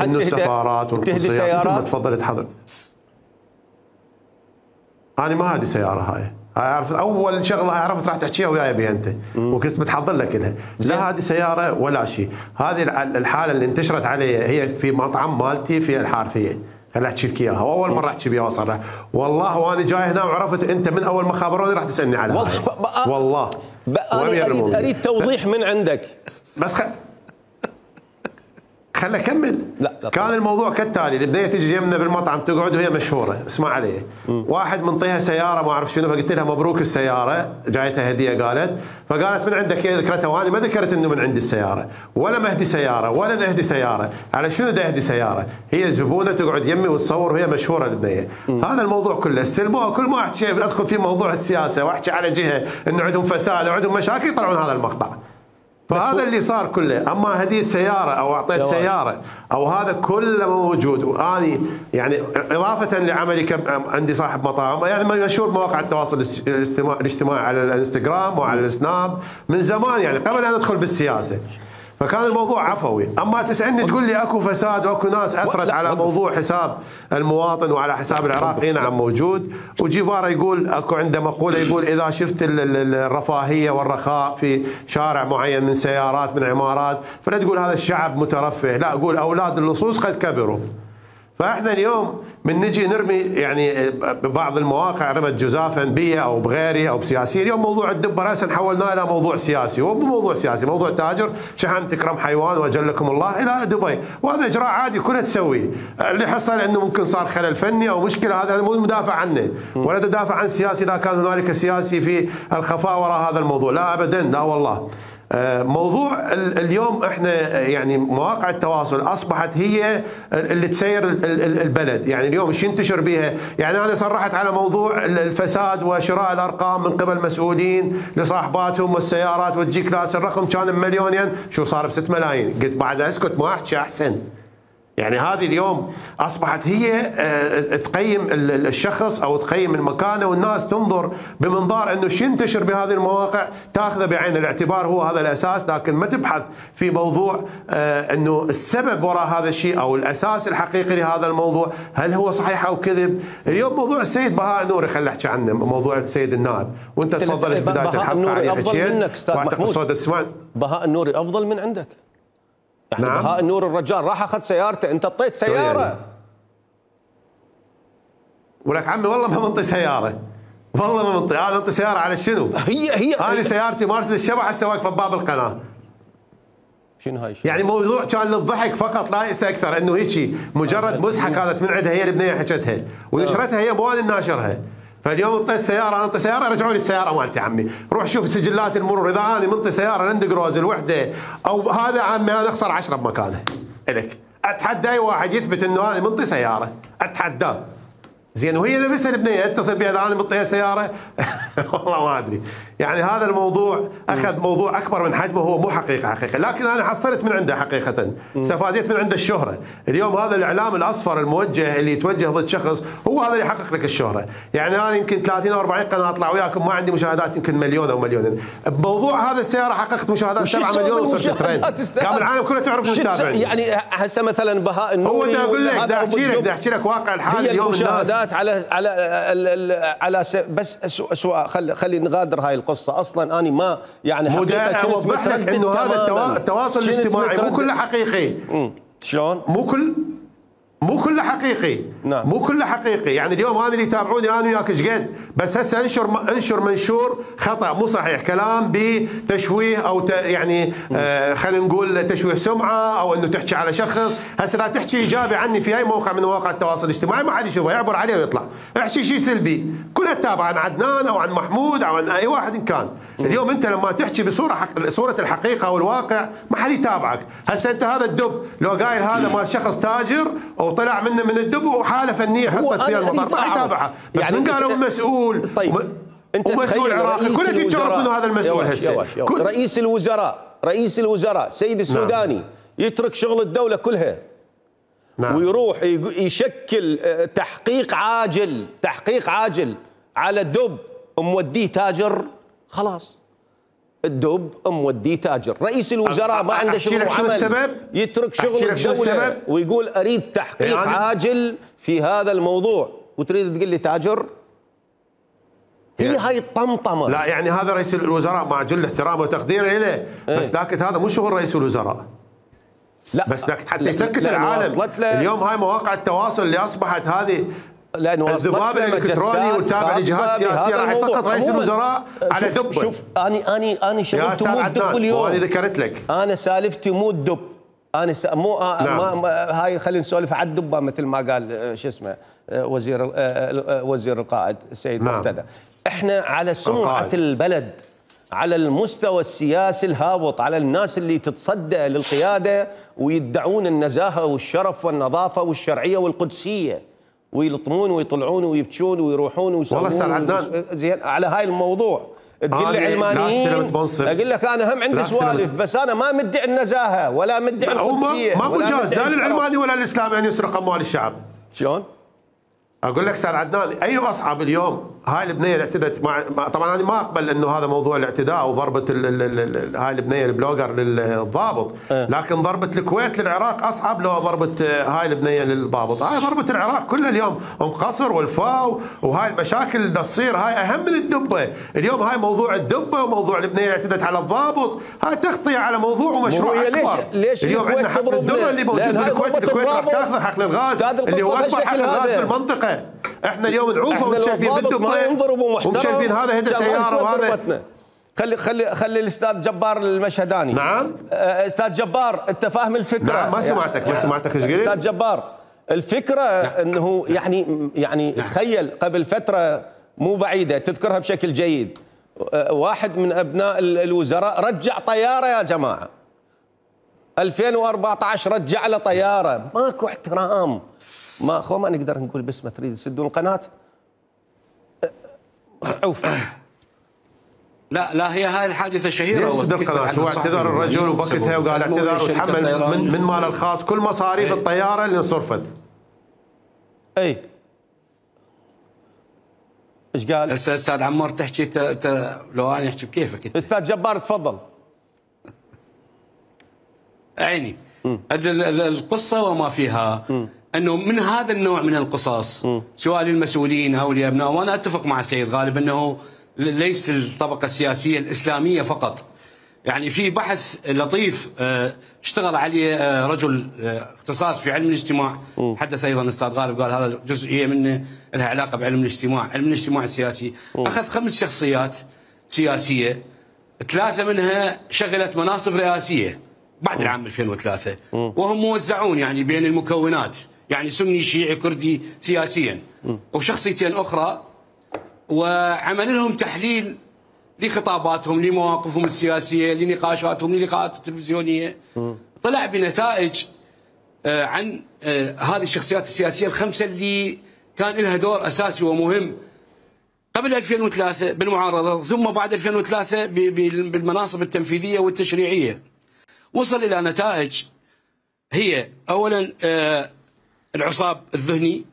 انه السفارات والقنصليات مثل ما تفضلت حضرتك. انا ما هذه سياره هاي، عرفت اول شغله عرفت راح تحكيها وياي بها انت، وكنت متحضر لك لها. لا هذه سياره ولا شيء، هذه الحاله اللي انتشرت علي هي في مطعم مالتي في الحارثيه، خليني احكي لك اياها، واول مره احكي بها واصرح والله، وانا جاي هنا وعرفت انت من اول ما خابروني راح تسالني على والله والله انا اريد اريد توضيح من عندك بس. خ... خليني اكمل. لا, لا كان طبعا. الموضوع كالتالي، البدايه تجي يمنا بالمطعم تقعد وهي مشهوره، اسمع علي، واحد منطيها سياره ما اعرف شنو، فقلت لها مبروك السياره، جايتها هديه قالت، فقالت من عندك هي، ذكرتها وانا ما ذكرت انه من عندي السياره، ولا مهدي سياره ولا نهدي سياره، على شنو دا اهدي سياره؟ هي زبونه تقعد يمي وتصور وهي مشهوره البنيه. هذا الموضوع كله استلموه، كل ما احكي ادخل في موضوع السياسه واحكي على جهه انه عندهم فساد وعندهم مشاكل يطلعون هذا المقطع. فهذا اللي صار كله، اما هديت سياره او اعطيت سياره او هذا كله موجود. واني يعني اضافه لعملي عندي صاحب مطاعم، يعني مشهور مواقع التواصل الاجتماعي على الانستغرام وعلى السناب من زمان، يعني قبل ان ادخل بالسياسه، فكان الموضوع عفوي. اما تسالني تقول لي اكو فساد واكو ناس اثرت على موضوع حساب المواطن وعلى حساب العراق، اي نعم موجود. وجيفارا يقول اكو عنده مقوله يقول اذا شفت الرفاهيه والرخاء في شارع معين من سيارات من عمارات فلا تقول هذا الشعب مترفه، لا قول اولاد اللصوص قد كبروا. فاحنا اليوم من نجي نرمي يعني ببعض المواقع رمت جزافا بي او بغيري او بسياسي، اليوم موضوع الدب راسا حولناه الى موضوع سياسي، وهو مو موضوع سياسي، موضوع تاجر شحن تكرم حيوان واجلكم الله الى دبي، وهذا اجراء عادي كلها تسويه. اللي حصل انه ممكن صار خلل فني او مشكله، هذا مو مدافع عنه ولا تدافع عن سياسي اذا كان هنالك سياسي في الخفاء وراء هذا الموضوع، لا ابدا، لا والله. موضوع اليوم احنا يعني مواقع التواصل اصبحت هي اللي تسير البلد، يعني اليوم ايش ينتشر بها؟ يعني انا صرحت على موضوع الفساد وشراء الارقام من قبل مسؤولين لصاحباتهم والسيارات، وتجيك ناس الرقم كان بمليونين شو صار بست ملايين، قلت بعد اسكت ما احكي احسن. يعني هذه اليوم اصبحت هي تقيم الشخص او تقيم المكانه، والناس تنظر بمنظار انه شو ينتشر بهذه المواقع تاخذه بعين الاعتبار، هو هذا الاساس، لكن ما تبحث في موضوع انه السبب وراء هذا الشيء او الاساس الحقيقي لهذا الموضوع هل هو صحيح او كذب. اليوم موضوع السيد بهاء نوري خلينا نحكي عنه، موضوع السيد النائب، وانت تفضلت بدايه الحلقه عليه افضل منك استاذ محمود. بهاء النوري افضل من عندك. يعني نعم. بهاء النور الرجال راح اخذ سيارته، انت اعطيت سياره يعني. ولك عمي والله ما منطي سياره، والله ما منطي، انا منطي سياره على شنو؟ هي هي انا سيارتي مرسيدس الشبح هسه واقفه بباب القناه. شنو هاي؟ يعني موضوع كان للضحك فقط لا يأس اكثر، انه هيك مجرد مزحه كانت من عندها، هي البنيه حكتها ونشرتها هي مو انا ناشرها. فاليوم انطيت سياره، انا انطي سياره رجعوا لي السياره مالتي عمي، روح شوف سجلات المرور، اذا انا منطي سياره لاند كروز الوحده او هذا عمي انا اخسر عشرة بمكانه. الك اتحدى اي واحد يثبت انه انا منطي سياره، اتحداه. زين وهي نفسها البنيه اتصل بها انا مطيها سياره والله ما ادري. يعني هذا الموضوع اخذ موضوع اكبر من حجمه، هو مو حقيقه حقيقه، لكن انا حصلت من عنده حقيقه، استفادت من عنده الشهره. اليوم هذا الاعلام الاصفر الموجه اللي يتوجه ضد شخص هو هذا اللي يحقق لك الشهره. يعني انا يمكن ثلاثين او أربعين قناه اطلع وياكم ما عندي مشاهدات يمكن مليون او مليونين. بموضوع هذا السياره حققت مشاهدات سبعة مليون وصرت ترند. كامل العالم كله تعرف تتابعني. يعني هسه مثلا بهاء النوري هو اقول لك بدي احكي لك بدي احكي لك واقع الحال اليوم. المشاهدات على على على بس سؤال، خلي خلي نغادر هاي القصه. اصلا انا ما يعني حقيقه اوضح لك انه هذا التواصل الاجتماعي مو كله حقيقي. شلون؟ مو كل مو كله حقيقي. نعم. مو كله حقيقي. يعني اليوم انا اللي يتابعوني انا وياك ايش قد، بس هسه انشر انشر منشور خطا مو صحيح، كلام بتشويه او ت يعني آه خلينا نقول تشويه سمعه او انه تحكي على شخص. هسه لا تحكي ايجابي عني في اي موقع من مواقع التواصل الاجتماعي ما حد يشوفه، يعبر عليه ويطلع. احكي شيء سلبي كلها تتابع عن عدنان او عن محمود او عن اي واحد إن كان. اليوم انت لما تحكي بصوره حق... صوره الحقيقه والواقع ما حد يتابعك. هسه انت هذا الدب لو قايل هذا مال شخص تاجر وطلع منه من الدب وحاله فنيه حصلت فيها المطار ما يتابعها، بس يعني من قالوا مسؤول. طيب وم... انت ومسؤول عراقي كلنا تعرف انه هذا المسؤول هسه. كل... رئيس الوزراء رئيس الوزراء سيد السوداني نعم. يترك شغل الدوله كلها نعم. ويروح يشكل تحقيق عاجل تحقيق عاجل على دب موديه تاجر. خلاص الدب موديه تاجر. رئيس الوزراء ما عنده شغل وعمل، يترك شغل الدوله ويقول اريد تحقيق يعني عاجل في هذا الموضوع وتريد تقول لي تاجر؟ هي يعني هاي الطمطمه. لا يعني هذا رئيس الوزراء مع جل احترامه وتقديره له، بس ذاك هذا مو شغل رئيس الوزراء. لا بس ذاك حتى يسكت العالم. اليوم هاي مواقع التواصل اللي اصبحت هذه لانه الذباب الالكتروني وتابع لجهات سياسيه راح يسقط رئيس الوزراء على دب. شوف اني اني اني شغل تموت دب اليوم. انا ذكرت لك انا سالفتي مو الدب. انا س... مو نعم. ما... ما... هاي خلينا نسولف على الدبه مثل ما قال شو اسمه وزير وزير القائد السيد نعم. مقتدى. احنا على سمعه القائد. البلد، على المستوى السياسي الهابط، على الناس اللي تتصدى للقياده ويدعون النزاهه والشرف والنظافه والشرعيه والقدسيه، ويلطمون ويطلعون ويبكون ويروحون ويسوون. والله استاذ عدنان زين على هاي الموضوع تقول لي علمانيين، اقول لك انا هم عندي سوالف، بس انا ما مدعي النزاهه ولا مدعي القدسيه. ما مجاز لا للعلماني ولا الاسلامي ان يسرق اموال الشعب. شلون؟ اقول لك استاذ عدنان اي اصعب اليوم هاي البنيه اللي اعتدت مع طبعا انا ما اقبل انه هذا موضوع الاعتداء وضربه ال ال ال هاي البنيه البلوجر للضابط، أه. لكن ضربه الكويت للعراق اصعب لو ضربه هاي البنيه للضابط. هاي ضربه العراق كلها اليوم ام قصر والفاو وهاي المشاكل اللي تصير هاي اهم من الدبه. اليوم هاي موضوع الدبه وموضوع البنيه اللي اعتدت على الضابط هاي تغطيه على موضوع ومشروع اكبر. ليش ليش اليوم عندنا حقل الدره اللي موجود بالكويت، الكويت راح تاخذ حقل الغاز اللي هو اكبر حقل الغاز في المنطقه. احنا اليوم نعوفه وشايفين بالدبه ومشايفين هذا هدى سياره وهذا. خلي خلي خلي الاستاذ جبار المشهداني. نعم استاذ جبار انت فاهم الفكره؟ نعم ما سمعتك ما سمعتك ايش قلت؟ استاذ جبار الفكره انه يعني يعني تخيل قبل فتره مو بعيده تذكرها بشكل جيد، واحد من ابناء الوزراء رجع طياره يا جماعه. ألفين وأربعة عشر رجع له طياره، ماكو احترام. ما خو ما نقدر نقول باسمه، تريد تسدون القناه؟ عوف. لا لا هي هاي الحادثه شهيره. سد القناه، هو اعتذر الرجل وبكتها وقال اعتذر وتحمل من من ماله الخاص كل مصاريف ايه؟ الطياره اللي انصرفت. اي ايش قال؟ هسه استاذ عمار تحكي ت... ت... لو انا احكي بكيفك انت. استاذ جبار تفضل. عيني القصه وما فيها م. انه من هذا النوع من القصص م. سواء للمسؤولين او لابناء، وانا اتفق مع السيد غالب انه ليس الطبقه السياسيه الاسلاميه فقط. يعني في بحث لطيف اشتغل عليه رجل اختصاص في علم الاجتماع، تحدث ايضا الاستاذ غالب قال هذا جزئيه منه لها علاقه بعلم الاجتماع، علم الاجتماع السياسي. اخذ خمس شخصيات سياسيه، ثلاثه منها شغلت مناصب رئاسيه بعد العام ألفين وثلاثة، وهم موزعون يعني بين المكونات، يعني سني شيعي كردي سياسيا، وشخصيتين اخرى، وعمل لهم تحليل لخطاباتهم، لمواقفهم السياسيه، لنقاشاتهم، للقاءات التلفزيونيه. طلع بنتائج عن هذه الشخصيات السياسيه الخمسه اللي كان لها دور اساسي ومهم قبل ألفين وثلاثة بالمعارضه، ثم بعد ألفين وثلاثة بالمناصب التنفيذيه والتشريعيه. وصل الى نتائج هي اولا العصاب الذهني،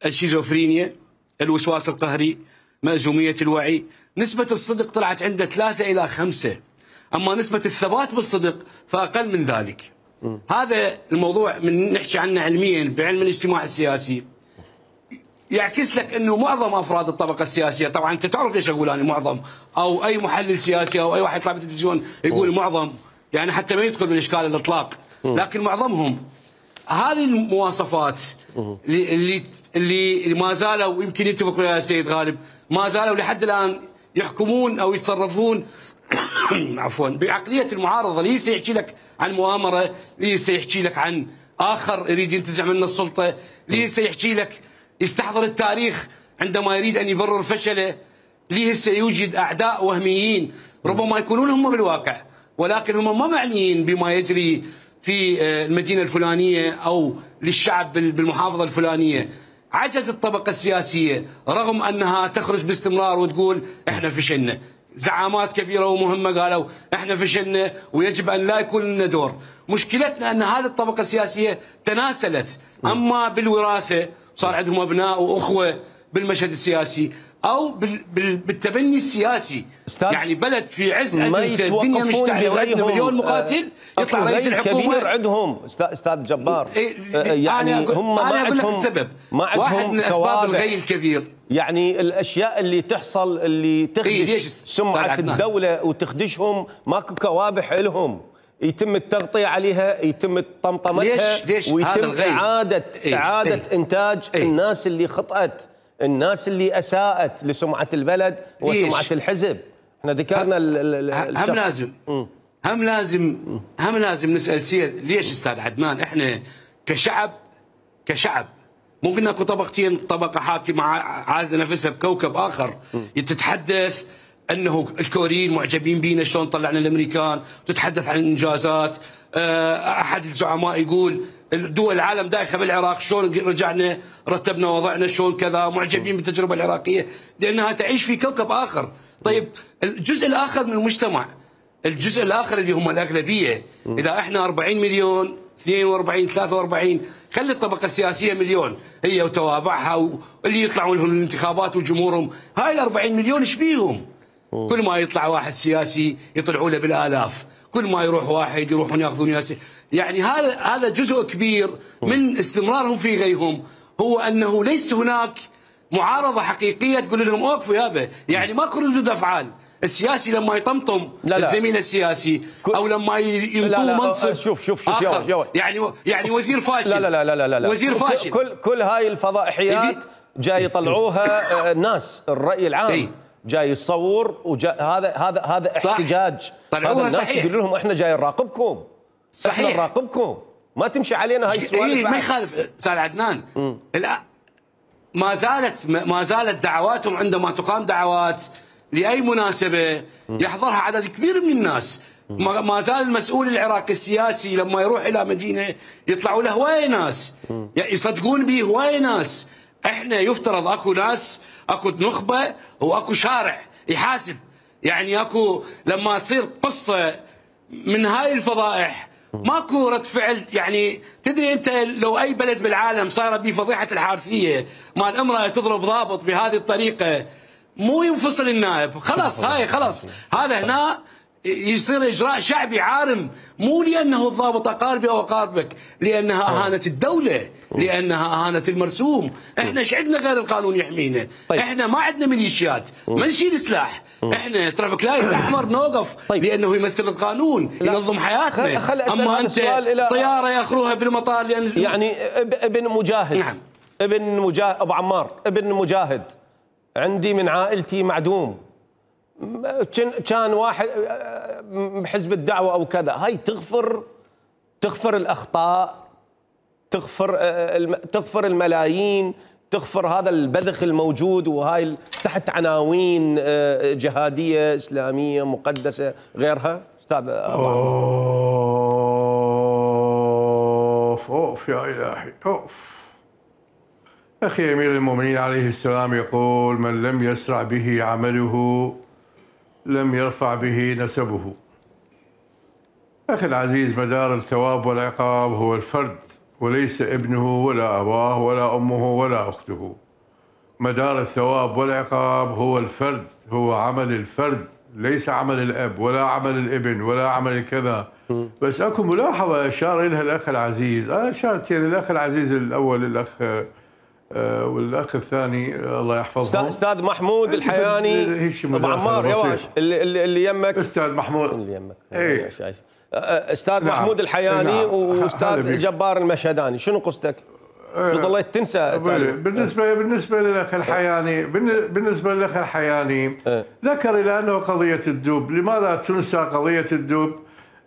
الشيزوفرينيا، الوسواس القهري، مأزومية الوعي. نسبة الصدق طلعت عنده ثلاثة إلى خمسة، أما نسبة الثبات بالصدق فأقل من ذلك. م. هذا الموضوع من نحكي عنه علميا بعلم الاجتماع السياسي يعكس لك أنه معظم أفراد الطبقة السياسية، طبعا أنت تعرف ليش أقول أنا معظم، أو أي محلل سياسي أو أي واحد يطلع بالتلفزيون يقول م. معظم، يعني حتى ما يدخل بالإشكال الإطلاق، لكن معظمهم هذه المواصفات اللي اللي ما زالوا، يمكن يتفق ويا سيد غالب، ما زالوا لحد الان يحكمون او يتصرفون عفوا بعقليه المعارضه. ليس يحكي لك عن مؤامره، ليس يحكي لك عن اخر يريد ينتزع منه السلطه، ليس يحكي لك يستحضر التاريخ عندما يريد ان يبرر فشله، ليس يوجد اعداء وهميين ربما يكونون هم بالواقع ولكن هم ما معنيين بما يجري في المدينة الفلانية أو للشعب بالمحافظة الفلانية. عجز الطبقة السياسية رغم أنها تخرج باستمرار وتقول إحنا فشلنا، زعامات كبيرة ومهمة قالوا إحنا فشلنا ويجب أن لا يكون لنا دور. مشكلتنا أن هذه الطبقة السياسية تناسلت، أما بالوراثة صار عندهم أبناء وأخوة بالمشهد السياسي أو بالتبني السياسي. يعني بلد في عز أزمته الدنيا مشتعلة وعندنا مليون مقاتل يطلع رئيس الحكومة كبير عندهم استاذ جبار. يعني أنا هم ما أنا أقول لك عندهم السبب، ما عندهم واحد من أسباب الغي الكبير، يعني الأشياء اللي تحصل اللي تخدش سمعة الدولة وتخدشهم، ماكو كوابح لهم يتم التغطية عليها، يتم طمطمتها، ليش ليش ويتم إعادة إيه؟ إعادة إيه؟ إنتاج إيه؟ الناس اللي خطأت، الناس اللي أساءت لسمعة البلد وسمعة الحزب. احنا ذكرنا الشخص. هم لازم م. هم لازم هم لازم نسأل سيد ليش أستاذ عدنان احنا كشعب كشعب ممكن اكو طبقتين، طبقة حاكمة عازة نفسها بكوكب آخر م. تتحدث انه الكوريين معجبين بينا شلون طلعنا الامريكان، تتحدث عن انجازات. احد الزعماء يقول دول العالم دايخه بالعراق شلون رجعنا رتبنا وضعنا شلون كذا، معجبين بالتجربه العراقيه لانها تعيش في كوكب اخر. طيب الجزء الاخر من المجتمع، الجزء الاخر اللي هم الاغلبيه، اذا احنا أربعين مليون اثنين وأربعين ثلاثة وأربعين، خلي الطبقه السياسيه مليون هي وتوابعها واللي يطلعوا لهم الانتخابات وجمهورهم، هاي ال أربعين مليون ايش بيهم؟ كل ما يطلع واحد سياسي يطلعوا له بالالاف، كل ما يروح واحد يروحون ياخذون ياسي. يعني هذا هذا جزء كبير من استمرارهم في غيهم، هو انه ليس هناك معارضه حقيقيه تقول لهم اوقفوا يابا، يعني ماكو ردود افعال. السياسي لما يطمطم لا لا. الزميل السياسي او لما ينطوه منصب شوف شوف شوف آخر. يو. يعني يعني وزير فاشل. لا لا لا لا لا وزير فاشل. كل كل هاي الفضائحيات جاي يطلعوها الناس، الراي العام ايه؟ جاي يصور وجا هذا هذا هذا احتجاج. هذا الناس صحيح. يقول لهم احنا جاي نراقبكم، صحيح احنا نراقبكم، ما تمشي علينا هاي السوالف. إيه ما يخالف استاذ عدنان. ما زالت ما زالت دعواتهم عندما تقام دعوات لاي مناسبه يحضرها عدد كبير من الناس. ما زال المسؤول العراقي السياسي لما يروح الى مدينه يطلعوا له هوايه ناس يصدقون به، هوايه ناس. احنا يفترض اكو ناس، اكو نخبه واكو شارع يحاسب. يعني اكو لما تصير قصه من هاي الفضائح ماكو رد فعل. يعني تدري انت لو اي بلد بالعالم صار به فضيحه الحارثيه مال امراه تضرب ضابط بهذه الطريقه مو ينفصل النائب، خلاص هاي خلاص هذا هنا يصير اجراء شعبي عارم، مو لانه الضابط اقاربي او اقاربك، لانها اهانت الدوله، لانها اهانت المرسوم. احنا ايش عندنا غير القانون يحمينا؟ طيب. احنا ما عندنا ميليشيات، ما نشيل سلاح، احنا ترافيك لايت احمر نوقف. طيب. لانه يمثل القانون، لا. ينظم حياتنا. خل خل اما انت طياره ياخذوها بالمطار لان يعني ابن مجاهد. نعم. ابن مجاهد ابو عمار ابن مجاهد عندي من عائلتي معدوم، كان واحد بحزب الدعوه او كذا. هاي تغفر تغفر الاخطاء، تغفر تغفر الملايين، تغفر هذا البذخ الموجود، وهاي تحت عناوين جهاديه اسلاميه مقدسه غيرها. استاذ ابو اوف اوف يا الهي اوف. أخي أمير المؤمنين عليه السلام يقول: من لم يسرع به عمله لم يرفع به نسبه. أخي العزيز، مدار الثواب والعقاب هو الفرد، وليس ابنه ولا أباه ولا أمه ولا أخته. مدار الثواب والعقاب هو الفرد، هو عمل الفرد، ليس عمل الأب ولا عمل الابن ولا عمل كذا. بس أكو ملاحظة أشار إليها الأخ العزيز، أنا أشارت يعني الأخ العزيز الأول، الأخ آه والأخ الثاني الله يحفظه أستاذ محمود الحياني أبو عمار يواش اللي اللي, اللي يمك أستاذ محمود اللي يمك إيه؟ شايف أستاذ نعم. محمود الحياني نعم. وأستاذ جبار المشهداني، شنو قصتك؟ شو ظليت تنسى؟ بالنسبة بالنسبة للأخ الحياني بالنسبة للأخ الحياني أه. ذكر إلى أنه قضية الدب، لماذا تنسى قضية الدب؟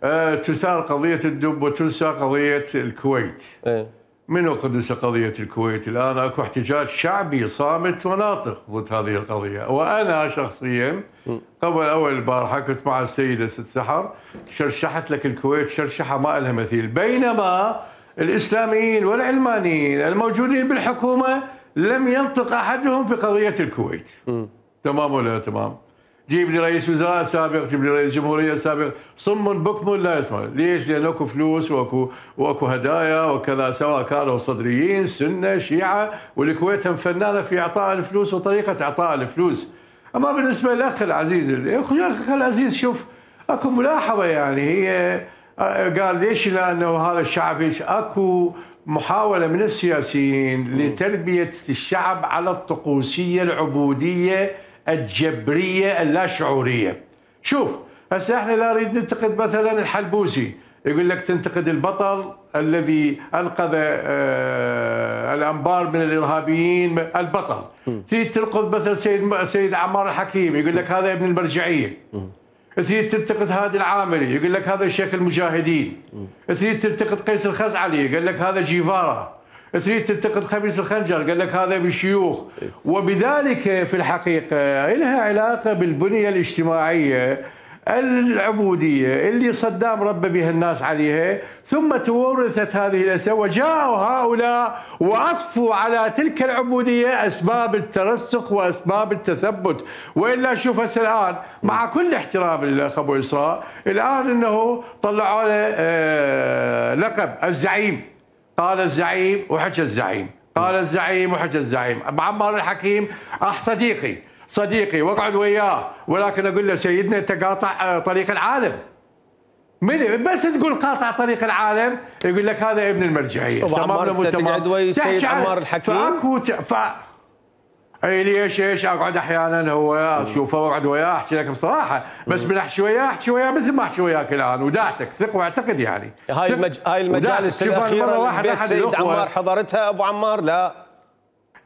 أه تثار قضية الدب وتنسى قضية الكويت. أه. منو قدس قضية الكويت؟ الآن أكو احتجاج شعبي صامت وناطق ضد هذه القضية، وأنا شخصيا قبل أول البارحة كنت مع السيدة ست سحر، شرشحت لك الكويت شرشحة ما لها مثيل، بينما الإسلاميين والعلمانيين الموجودين بالحكومة لم ينطق أحدهم في قضية الكويت. م. تمام ولا تمام؟ جيب لي رئيس وزراء سابق، جيب لي رئيس جمهورية سابق، صم بكم لا يسمع. ليش؟ لأن اكو فلوس واكو واكو هدايا وكذا، سواء كانوا صدريين سنة شيعة، والكويت هم فنانة في إعطاء الفلوس وطريقة إعطاء الفلوس. أما بالنسبة للأخ العزيز، الأخ العزيز شوف اكو ملاحظة، يعني هي قال ليش؟ لأنه هذا الشعب ايش؟ اكو محاولة من السياسيين لتربية الشعب على الطقوسية العبودية الجبرية اللاشعورية. شوف هسه احنا لا نريد ننتقد مثلا الحلبوسي، يقول لك تنتقد البطل الذي انقذ آه الانبار من الارهابيين، البطل. تريد تنقد مثلا سيد سيد عمار الحكيم، يقول لك هذا ابن المرجعية. تريد تنتقد هادي العاملي، يقول لك هذا شيخ المجاهدين. تريد تنتقد قيس الخزعلي، قال لك هذا جيفارا. تريد تنتقد خميس الخنجر، قال لك هذا بالشيوخ. وبذلك في الحقيقة لها علاقة بالبنية الاجتماعية العبودية اللي صدام ربى بها الناس عليها، ثم تورثت هذه الأسباب، وجاءوا هؤلاء وأضفوا على تلك العبودية أسباب الترسخ وأسباب التثبت. وإلا شوف هسه الآن مع كل احترام للأخ أبو إسراء، الآن أنه طلعوا له آه لقب الزعيم، قال الزعيم وحكى الزعيم، قال الزعيم وحكى الزعيم. أبو عمار الحكيم أخ صديقي صديقي واقعد وياه، ولكن اقول له سيدنا انت قاطع طريق العالم. من بس تقول قاطع طريق العالم يقول لك هذا ابن المرجعيه. ابو عمار انت تقعد ويا سيد عمار الحكيم؟ فاكو ف اي ليش ايش اقعد احيانا هو اشوفه واقعد وياه احكي لك بصراحه، بس من احكي وياه احكي وياه مثل ما احكي وياك الان، وداعتك ثق واعتقد يعني. هاي المج... هاي المجالس الاخيره بيت سيد عمار حضرتها ابو عمار؟ لا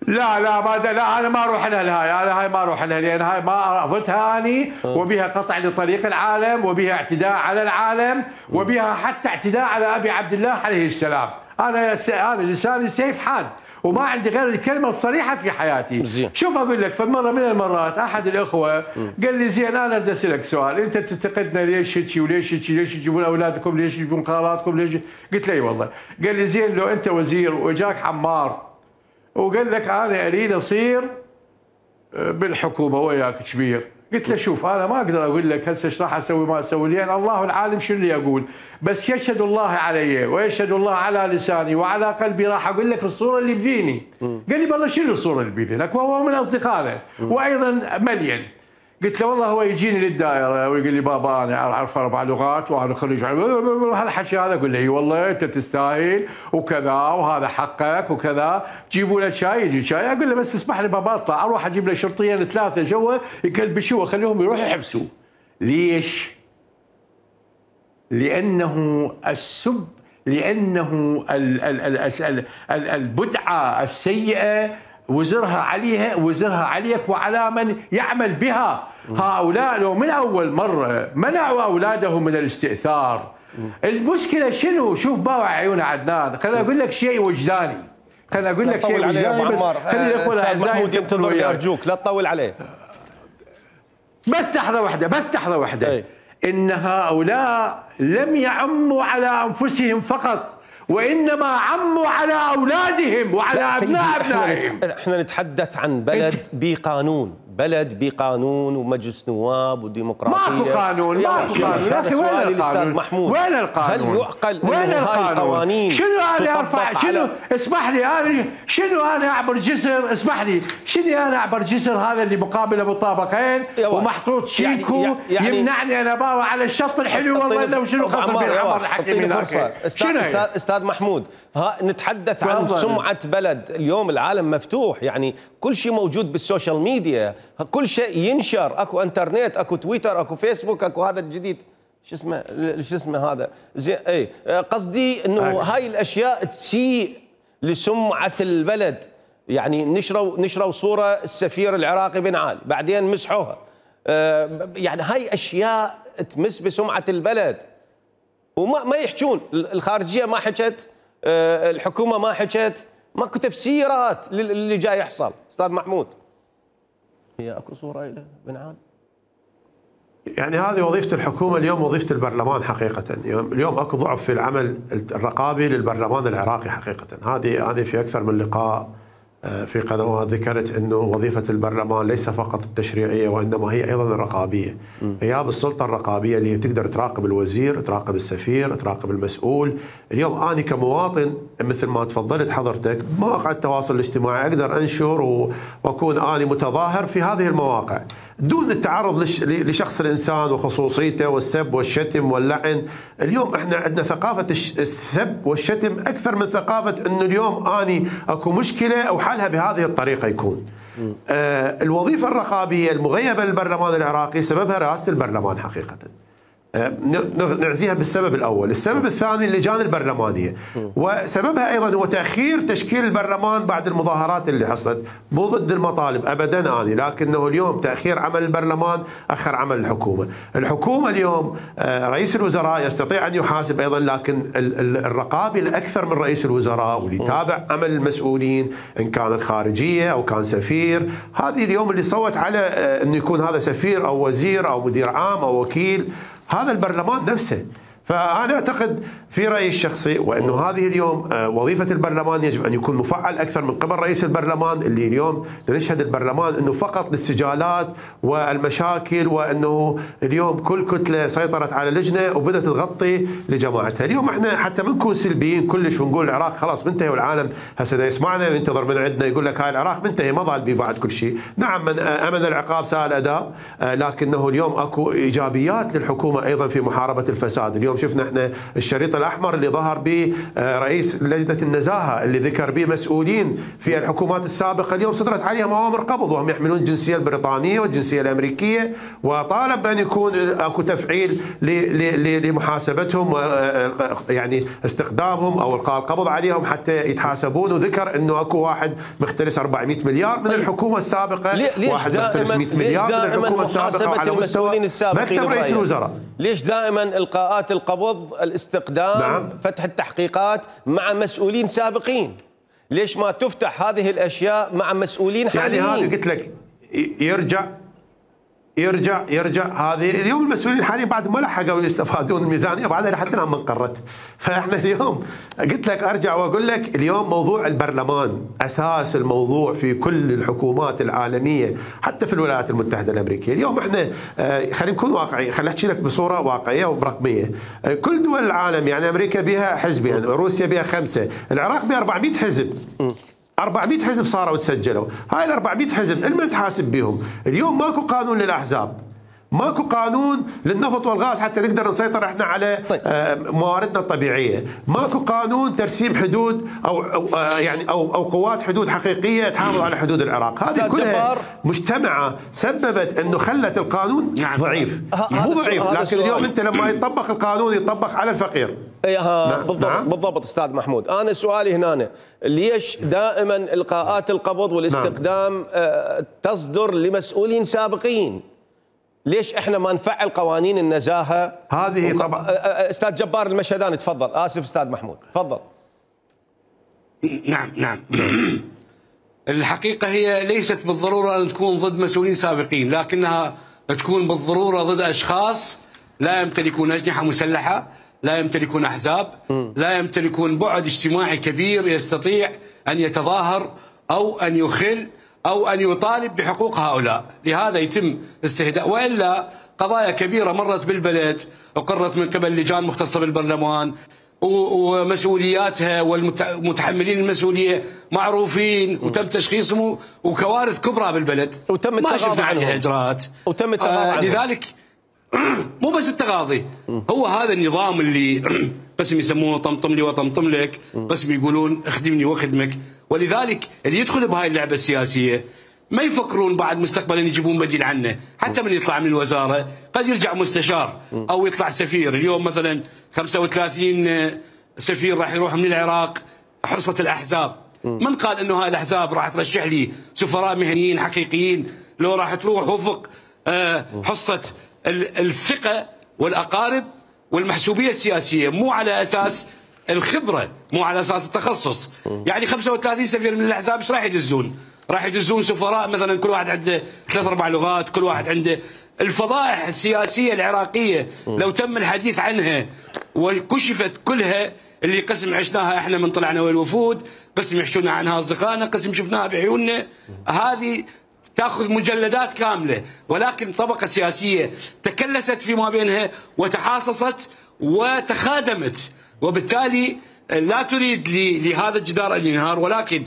لا لا ما لا انا ما اروح لها هاي، انا هاي ما اروح لها لان هاي ما رفضتها اني، وبها قطع لطريق العالم، وبها اعتداء على العالم، وبها حتى اعتداء على ابي عبد الله عليه السلام. انا انا لساني سيف حاد وما عندي غير الكلمه الصريحه في حياتي. زين. شوف اقول لك، فمره من المرات احد الاخوه قال لي زين انا بدي اسالك سؤال، انت تنتقدنا ليش هيك وليش هيك، ليش تجيبون اولادكم، ليش تجيبون خالاتكم، ليش؟ قلت له اي والله. قال لي زين لو انت وزير واجاك عمار وقال لك انا اريد اصير بالحكومه وياك كبير، قلت له شوف انا ما اقدر اقول لك هسه ايش راح اسوي ما اسوي، لان الله العالم شنو اللي اقول، بس يشهد الله علي ويشهد الله على لساني وعلى قلبي، راح اقول لك الصوره اللي بذيني. قال لي بالله شنو الصوره اللي بذينك؟ وهو من اصدقائنا وايضا مليان. قلت له والله هو يجيني للدائره ويقول لي بابا انا اعرف اربع لغات وانا خريج هالحكي هذا، اقول له اي والله انت تستاهل وكذا وهذا حقك وكذا، جيبوا له شاي يجي شاي، اقول له بس اسمح لي بابا اطلع اروح اجيب له شرطيين ثلاثه جوا يكلبشوه خليهم يروحوا يحبسوه. ليش؟ لانه السب لانه البدعه السيئه وزرها عليها وزرها عليك وعلى من يعمل بها. هؤلاء لو من اول مره منعوا اولادهم من الاستئثار. المشكله شنو؟ شوف باوع عيون عدنان، خليني اقول لك شيء وجداني، خليني اقول لك شيء وجداني بس خلي الاخوه استاذ محمود ينتظرني ارجوك لا تطول عليه. بس لحظه واحده بس لحظه واحده. ان هؤلاء لم يعموا على انفسهم فقط، وإنما عموا على أولادهم وعلى أبناء أبنائهم. احنا نتحدث عن بلد بقانون، بلد بقانون ومجلس نواب وديمقراطيه. ماكو قانون، ماكو قانون يا اخي. وين القانون؟ محمود، وين القانون؟ هل يعقل وين انه هاي القوانين شنو انا ارفع؟ شنو اسمح لي انا شنو انا اعبر جسر؟ اسمح لي شنو انا اعبر جسر هذا اللي مقابل ابو طابقين ومحطوط شيكو يعني يعني يمنعني انا باوع على الشط الحلو والله وشنو خاطر بالعمر الحكيم هناك. استاذ استاذ محمود، ها نتحدث عن سمعه بلد. اليوم العالم مفتوح، يعني كل شيء موجود بالسوشيال ميديا، كل شيء ينشر، اكو انترنت، اكو تويتر، اكو فيسبوك، اكو هذا الجديد شو اسمه شو اسمه هذا زي اي قصدي انه هاي الاشياء تسيء لسمعه البلد. يعني نشروا نشروا صوره السفير العراقي بن علي بعدين مسحوها. يعني هاي اشياء تمس بسمعه البلد وما ما يحجون. الخارجيه ما حكت، الحكومه ما حكت، ماكو تفسيرات للي جاي يحصل. استاذ محمود، هي اكو صوره له بن علي؟ يعني هذه وظيفة الحكومة اليوم، وظيفة البرلمان حقيقة. اليوم اكو ضعف في العمل الرقابي للبرلمان العراقي حقيقة. هذه هذه في أكثر من لقاء في قنوات ذكرت أنه وظيفة البرلمان ليس فقط التشريعية وإنما هي أيضا الرقابية. غياب السلطة الرقابية اللي تقدر تراقب الوزير، تراقب السفير، تراقب المسؤول. اليوم أنا كمواطن مثل ما تفضلت حضرتك مواقع التواصل الاجتماعي أقدر أنشر وأكون أنا متظاهر في هذه المواقع دون التعرض لشخص الإنسان وخصوصيته والسب والشتم واللعن. اليوم احنا عندنا ثقافة السب والشتم أكثر من ثقافة أنه اليوم أني أكو مشكلة أو حلها بهذه الطريقة يكون. آه الوظيفة الرقابية المغيبة للبرلمان العراقي سببها رئاسة البرلمان حقيقة. نعزيها بالسبب الأول. السبب الثاني اللجان البرلمانية، وسببها أيضا هو تأخير تشكيل البرلمان بعد المظاهرات اللي حصلت. مو ضد المطالب أبدا أني، لكنه اليوم تأخير عمل البرلمان أخر عمل الحكومة. الحكومة اليوم رئيس الوزراء يستطيع أن يحاسب أيضا، لكن الرقابي الأكثر من رئيس الوزراء واللي يتابع عمل المسؤولين إن كانت خارجية أو كان سفير. هذه اليوم اللي صوت على أنه يكون هذا سفير أو وزير أو مدير عام أو وكيل هذا البرلمان نفسه. فأنا أعتقد في رأيي الشخصي وأنه هذه اليوم وظيفة البرلمان يجب أن يكون مفعل أكثر من قبل رئيس البرلمان، اللي اليوم نشهد البرلمان أنه فقط للسجالات والمشاكل، وأنه اليوم كل كتلة سيطرت على لجنة وبدأت تغطي لجماعتها. اليوم احنا حتى ما نكون سلبيين كلش ونقول العراق خلاص منتهي والعالم هسه يسمعنا وينتظر من عندنا يقول لك هاي العراق منتهي ما ظل بيه بعد كل شيء. نعم من أمن العقاب ساء الأداء، لكنه اليوم أكو إيجابيات للحكومة أيضا في محاربة الفساد. اليوم شفنا احنا الشريط الأحمر اللي ظهر به رئيس لجنة النزاهة اللي ذكر به مسؤولين في الحكومات السابقة، اليوم صدرت عليهم أوامر قبض وهم يحملون الجنسية البريطانية والجنسية الأمريكية، وطالب بأن يكون أكو تفعيل لمحاسبتهم يعني استخدامهم أو إلقاء القبض عليهم حتى يتحاسبون. وذكر أنه أكو واحد مختلس أربعمئة مليار من الحكومة السابقة، واحد مختلس مئة مليار من الحكومة السابقة وعلى مستوى مكتب رئيس الوزراء. ليش دائما إلقاءات القبض، الاستقدام، نعم. فتح التحقيقات مع مسؤولين سابقين؟ ليش ما تفتح هذه الأشياء مع مسؤولين حاليين؟ يعني هذا قلت لك يرجع يرجع يرجع هذه اليوم المسؤولين حاليا بعد ما لحقوا يستفادون الميزانيه بعدها حتى لما انقرت. فاحنا اليوم قلت لك ارجع واقول لك اليوم موضوع البرلمان اساس الموضوع في كل الحكومات العالميه حتى في الولايات المتحده الامريكيه. اليوم احنا خلينا نكون واقعيين، خليني احكي لك بصوره واقعيه ورقميه. كل دول العالم يعني امريكا بها حزبين، يعني روسيا بها خمسه، العراق بها أربعمئة حزب. أربعمئة حزب صاروا وتسجلوا. هاي ال أربعمئة حزب المن تحاسب بهم؟ اليوم ماكو قانون للاحزاب، ماكو قانون للنفط والغاز حتى نقدر نسيطر احنا على مواردنا الطبيعيه، ماكو قانون ترسيم حدود او, أو يعني او او قوات حدود حقيقيه تحافظ على حدود العراق. هذه كلها مجتمعه سببت انه خلت القانون ضعيف. مو ضعيف لكن اليوم انت لما يطبق القانون يطبق على الفقير. اي بالضبط. نعم. بالضبط استاذ محمود. انا سؤالي هنا ليش دائما القاءات القبض والاستقدام نعم. تصدر لمسؤولين سابقين؟ ليش احنا ما نفعل قوانين النزاهه؟ هذه وق... طبعا استاذ جبار المشهداني تفضل. اسف استاذ محمود تفضل. نعم نعم الحقيقه هي ليست بالضروره ان تكون ضد مسؤولين سابقين، لكنها تكون بالضروره ضد اشخاص لا يمتلكون اجنحه مسلحه، لا يمتلكون أحزاب، لا يمتلكون بعد اجتماعي كبير يستطيع أن يتظاهر أو أن يخل أو أن يطالب بحقوق هؤلاء. لهذا يتم استهداء، وإلا قضايا كبيرة مرت بالبلد وقرت من قبل لجان مختصة بالبرلمان ومسؤولياتها والمتحملين المسؤولية معروفين وتم تشخيصهم، وكوارث كبرى بالبلد وتم ما شفنا عليها عنهم. إجراءات وتم التغاضي آه عنهم. لذلك مو بس التغاضي، هو هذا النظام اللي قسم يسمونه طمطم لي وطمطم لك، قسم يقولون اخدمني واخدمك. ولذلك اللي يدخل بهاي اللعبة السياسية ما يفكرون بعد مستقبلا يجيبون بديل عنه. حتى من يطلع من الوزارة قد يرجع مستشار أو يطلع سفير. اليوم مثلا خمسة وثلاثين سفير راح يروح من العراق حصة الأحزاب. من قال أنه هاي الأحزاب راح ترشح لي سفراء مهنيين حقيقيين؟ لو راح تروح وفق حصة الثقة والأقارب والمحسوبية السياسية، مو على أساس الخبرة، مو على أساس التخصص. يعني خمسة وثلاثين سفير من الأحزاب ايش راح يدزون؟ راح يدزون سفراء مثلا كل واحد عنده ثلاث اربع لغات، كل واحد عنده. الفضائح السياسيه العراقيه لو تم الحديث عنها وكشفت كلها، اللي قسم عشناها احنا من طلعنا والوفود، قسم يحشونا عنها اصدقائنا، قسم شفناها بعيوننا، هذه تاخذ مجلدات كامله. ولكن طبقه سياسيه تكلست فيما بينها وتحاصصت وتخادمت، وبالتالي لا تريد لهذا الجدار ان ينهار، ولكن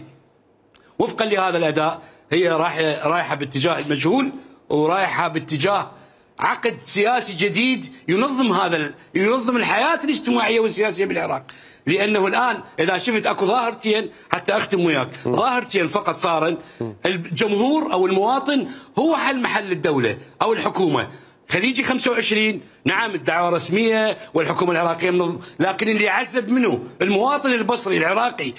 وفقا لهذا الاداء هي رايحه رايحه باتجاه المجهول، ورايحه باتجاه عقد سياسي جديد ينظم هذا ينظم الحياه الاجتماعيه والسياسيه بالعراق. لانه الان اذا شفت اكو ظاهرتين، حتى اختم وياك، ظاهرتين فقط صارن. الجمهور او المواطن هو حل محل الدوله او الحكومه. خليجي خمسة وعشرين نعم الدعوة رسمية والحكومة العراقية منظم، لكن اللي يعذب منه المواطن البصري العراقي.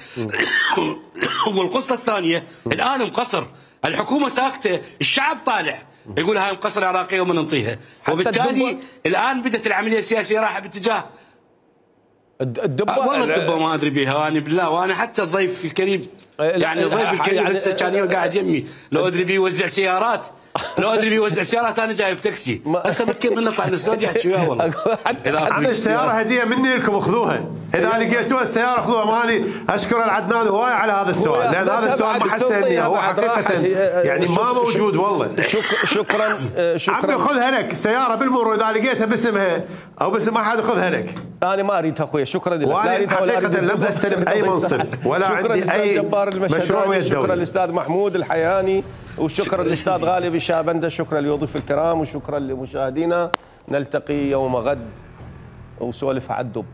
والقصة الثانية الآن مقصر، الحكومة ساكتة، الشعب طالع يقول هاي مقصر عراقية وما ننطيها. وبالتالي الآن بدأت العملية السياسية رايحة باتجاه الدبة. والله الدبة ما ادري بها انا بالله. وانا حتى الضيف الكريم يعني الضيف الكريم يعني لسه كان قاعد يمي، لو ادري بيوزع سيارات، لو ادري بيوزع سيارات انا جايب تاكسي. هسه بكيف من نطلع الاستوديو يحكي وياه والله. عندي السياره هديه مني لكم، خذوها اذا لقيتوها السياره خذوها مالي. اشكر العدنان هواي على هذا السؤال، لان هذا السؤال ما حسني، هو حقيقه يعني ما موجود والله. شكرا شكرا. عمي خذها لك السياره بالمرور، اذا لقيتها باسمها او باسم احد خذها لك. انا ما اريدها اخوي، شكرا لك. لا اريدها ولا اريد لم استلم اي منصب ولا عندي اي مشروع. شكرا للاستاذ محمود الحياني، وشكرا للاستاذ غالب الشابندر، شكرا للضيوف الكرام، وشكرا لمشاهدينا. نلتقي يوم غد وسولف على الدب.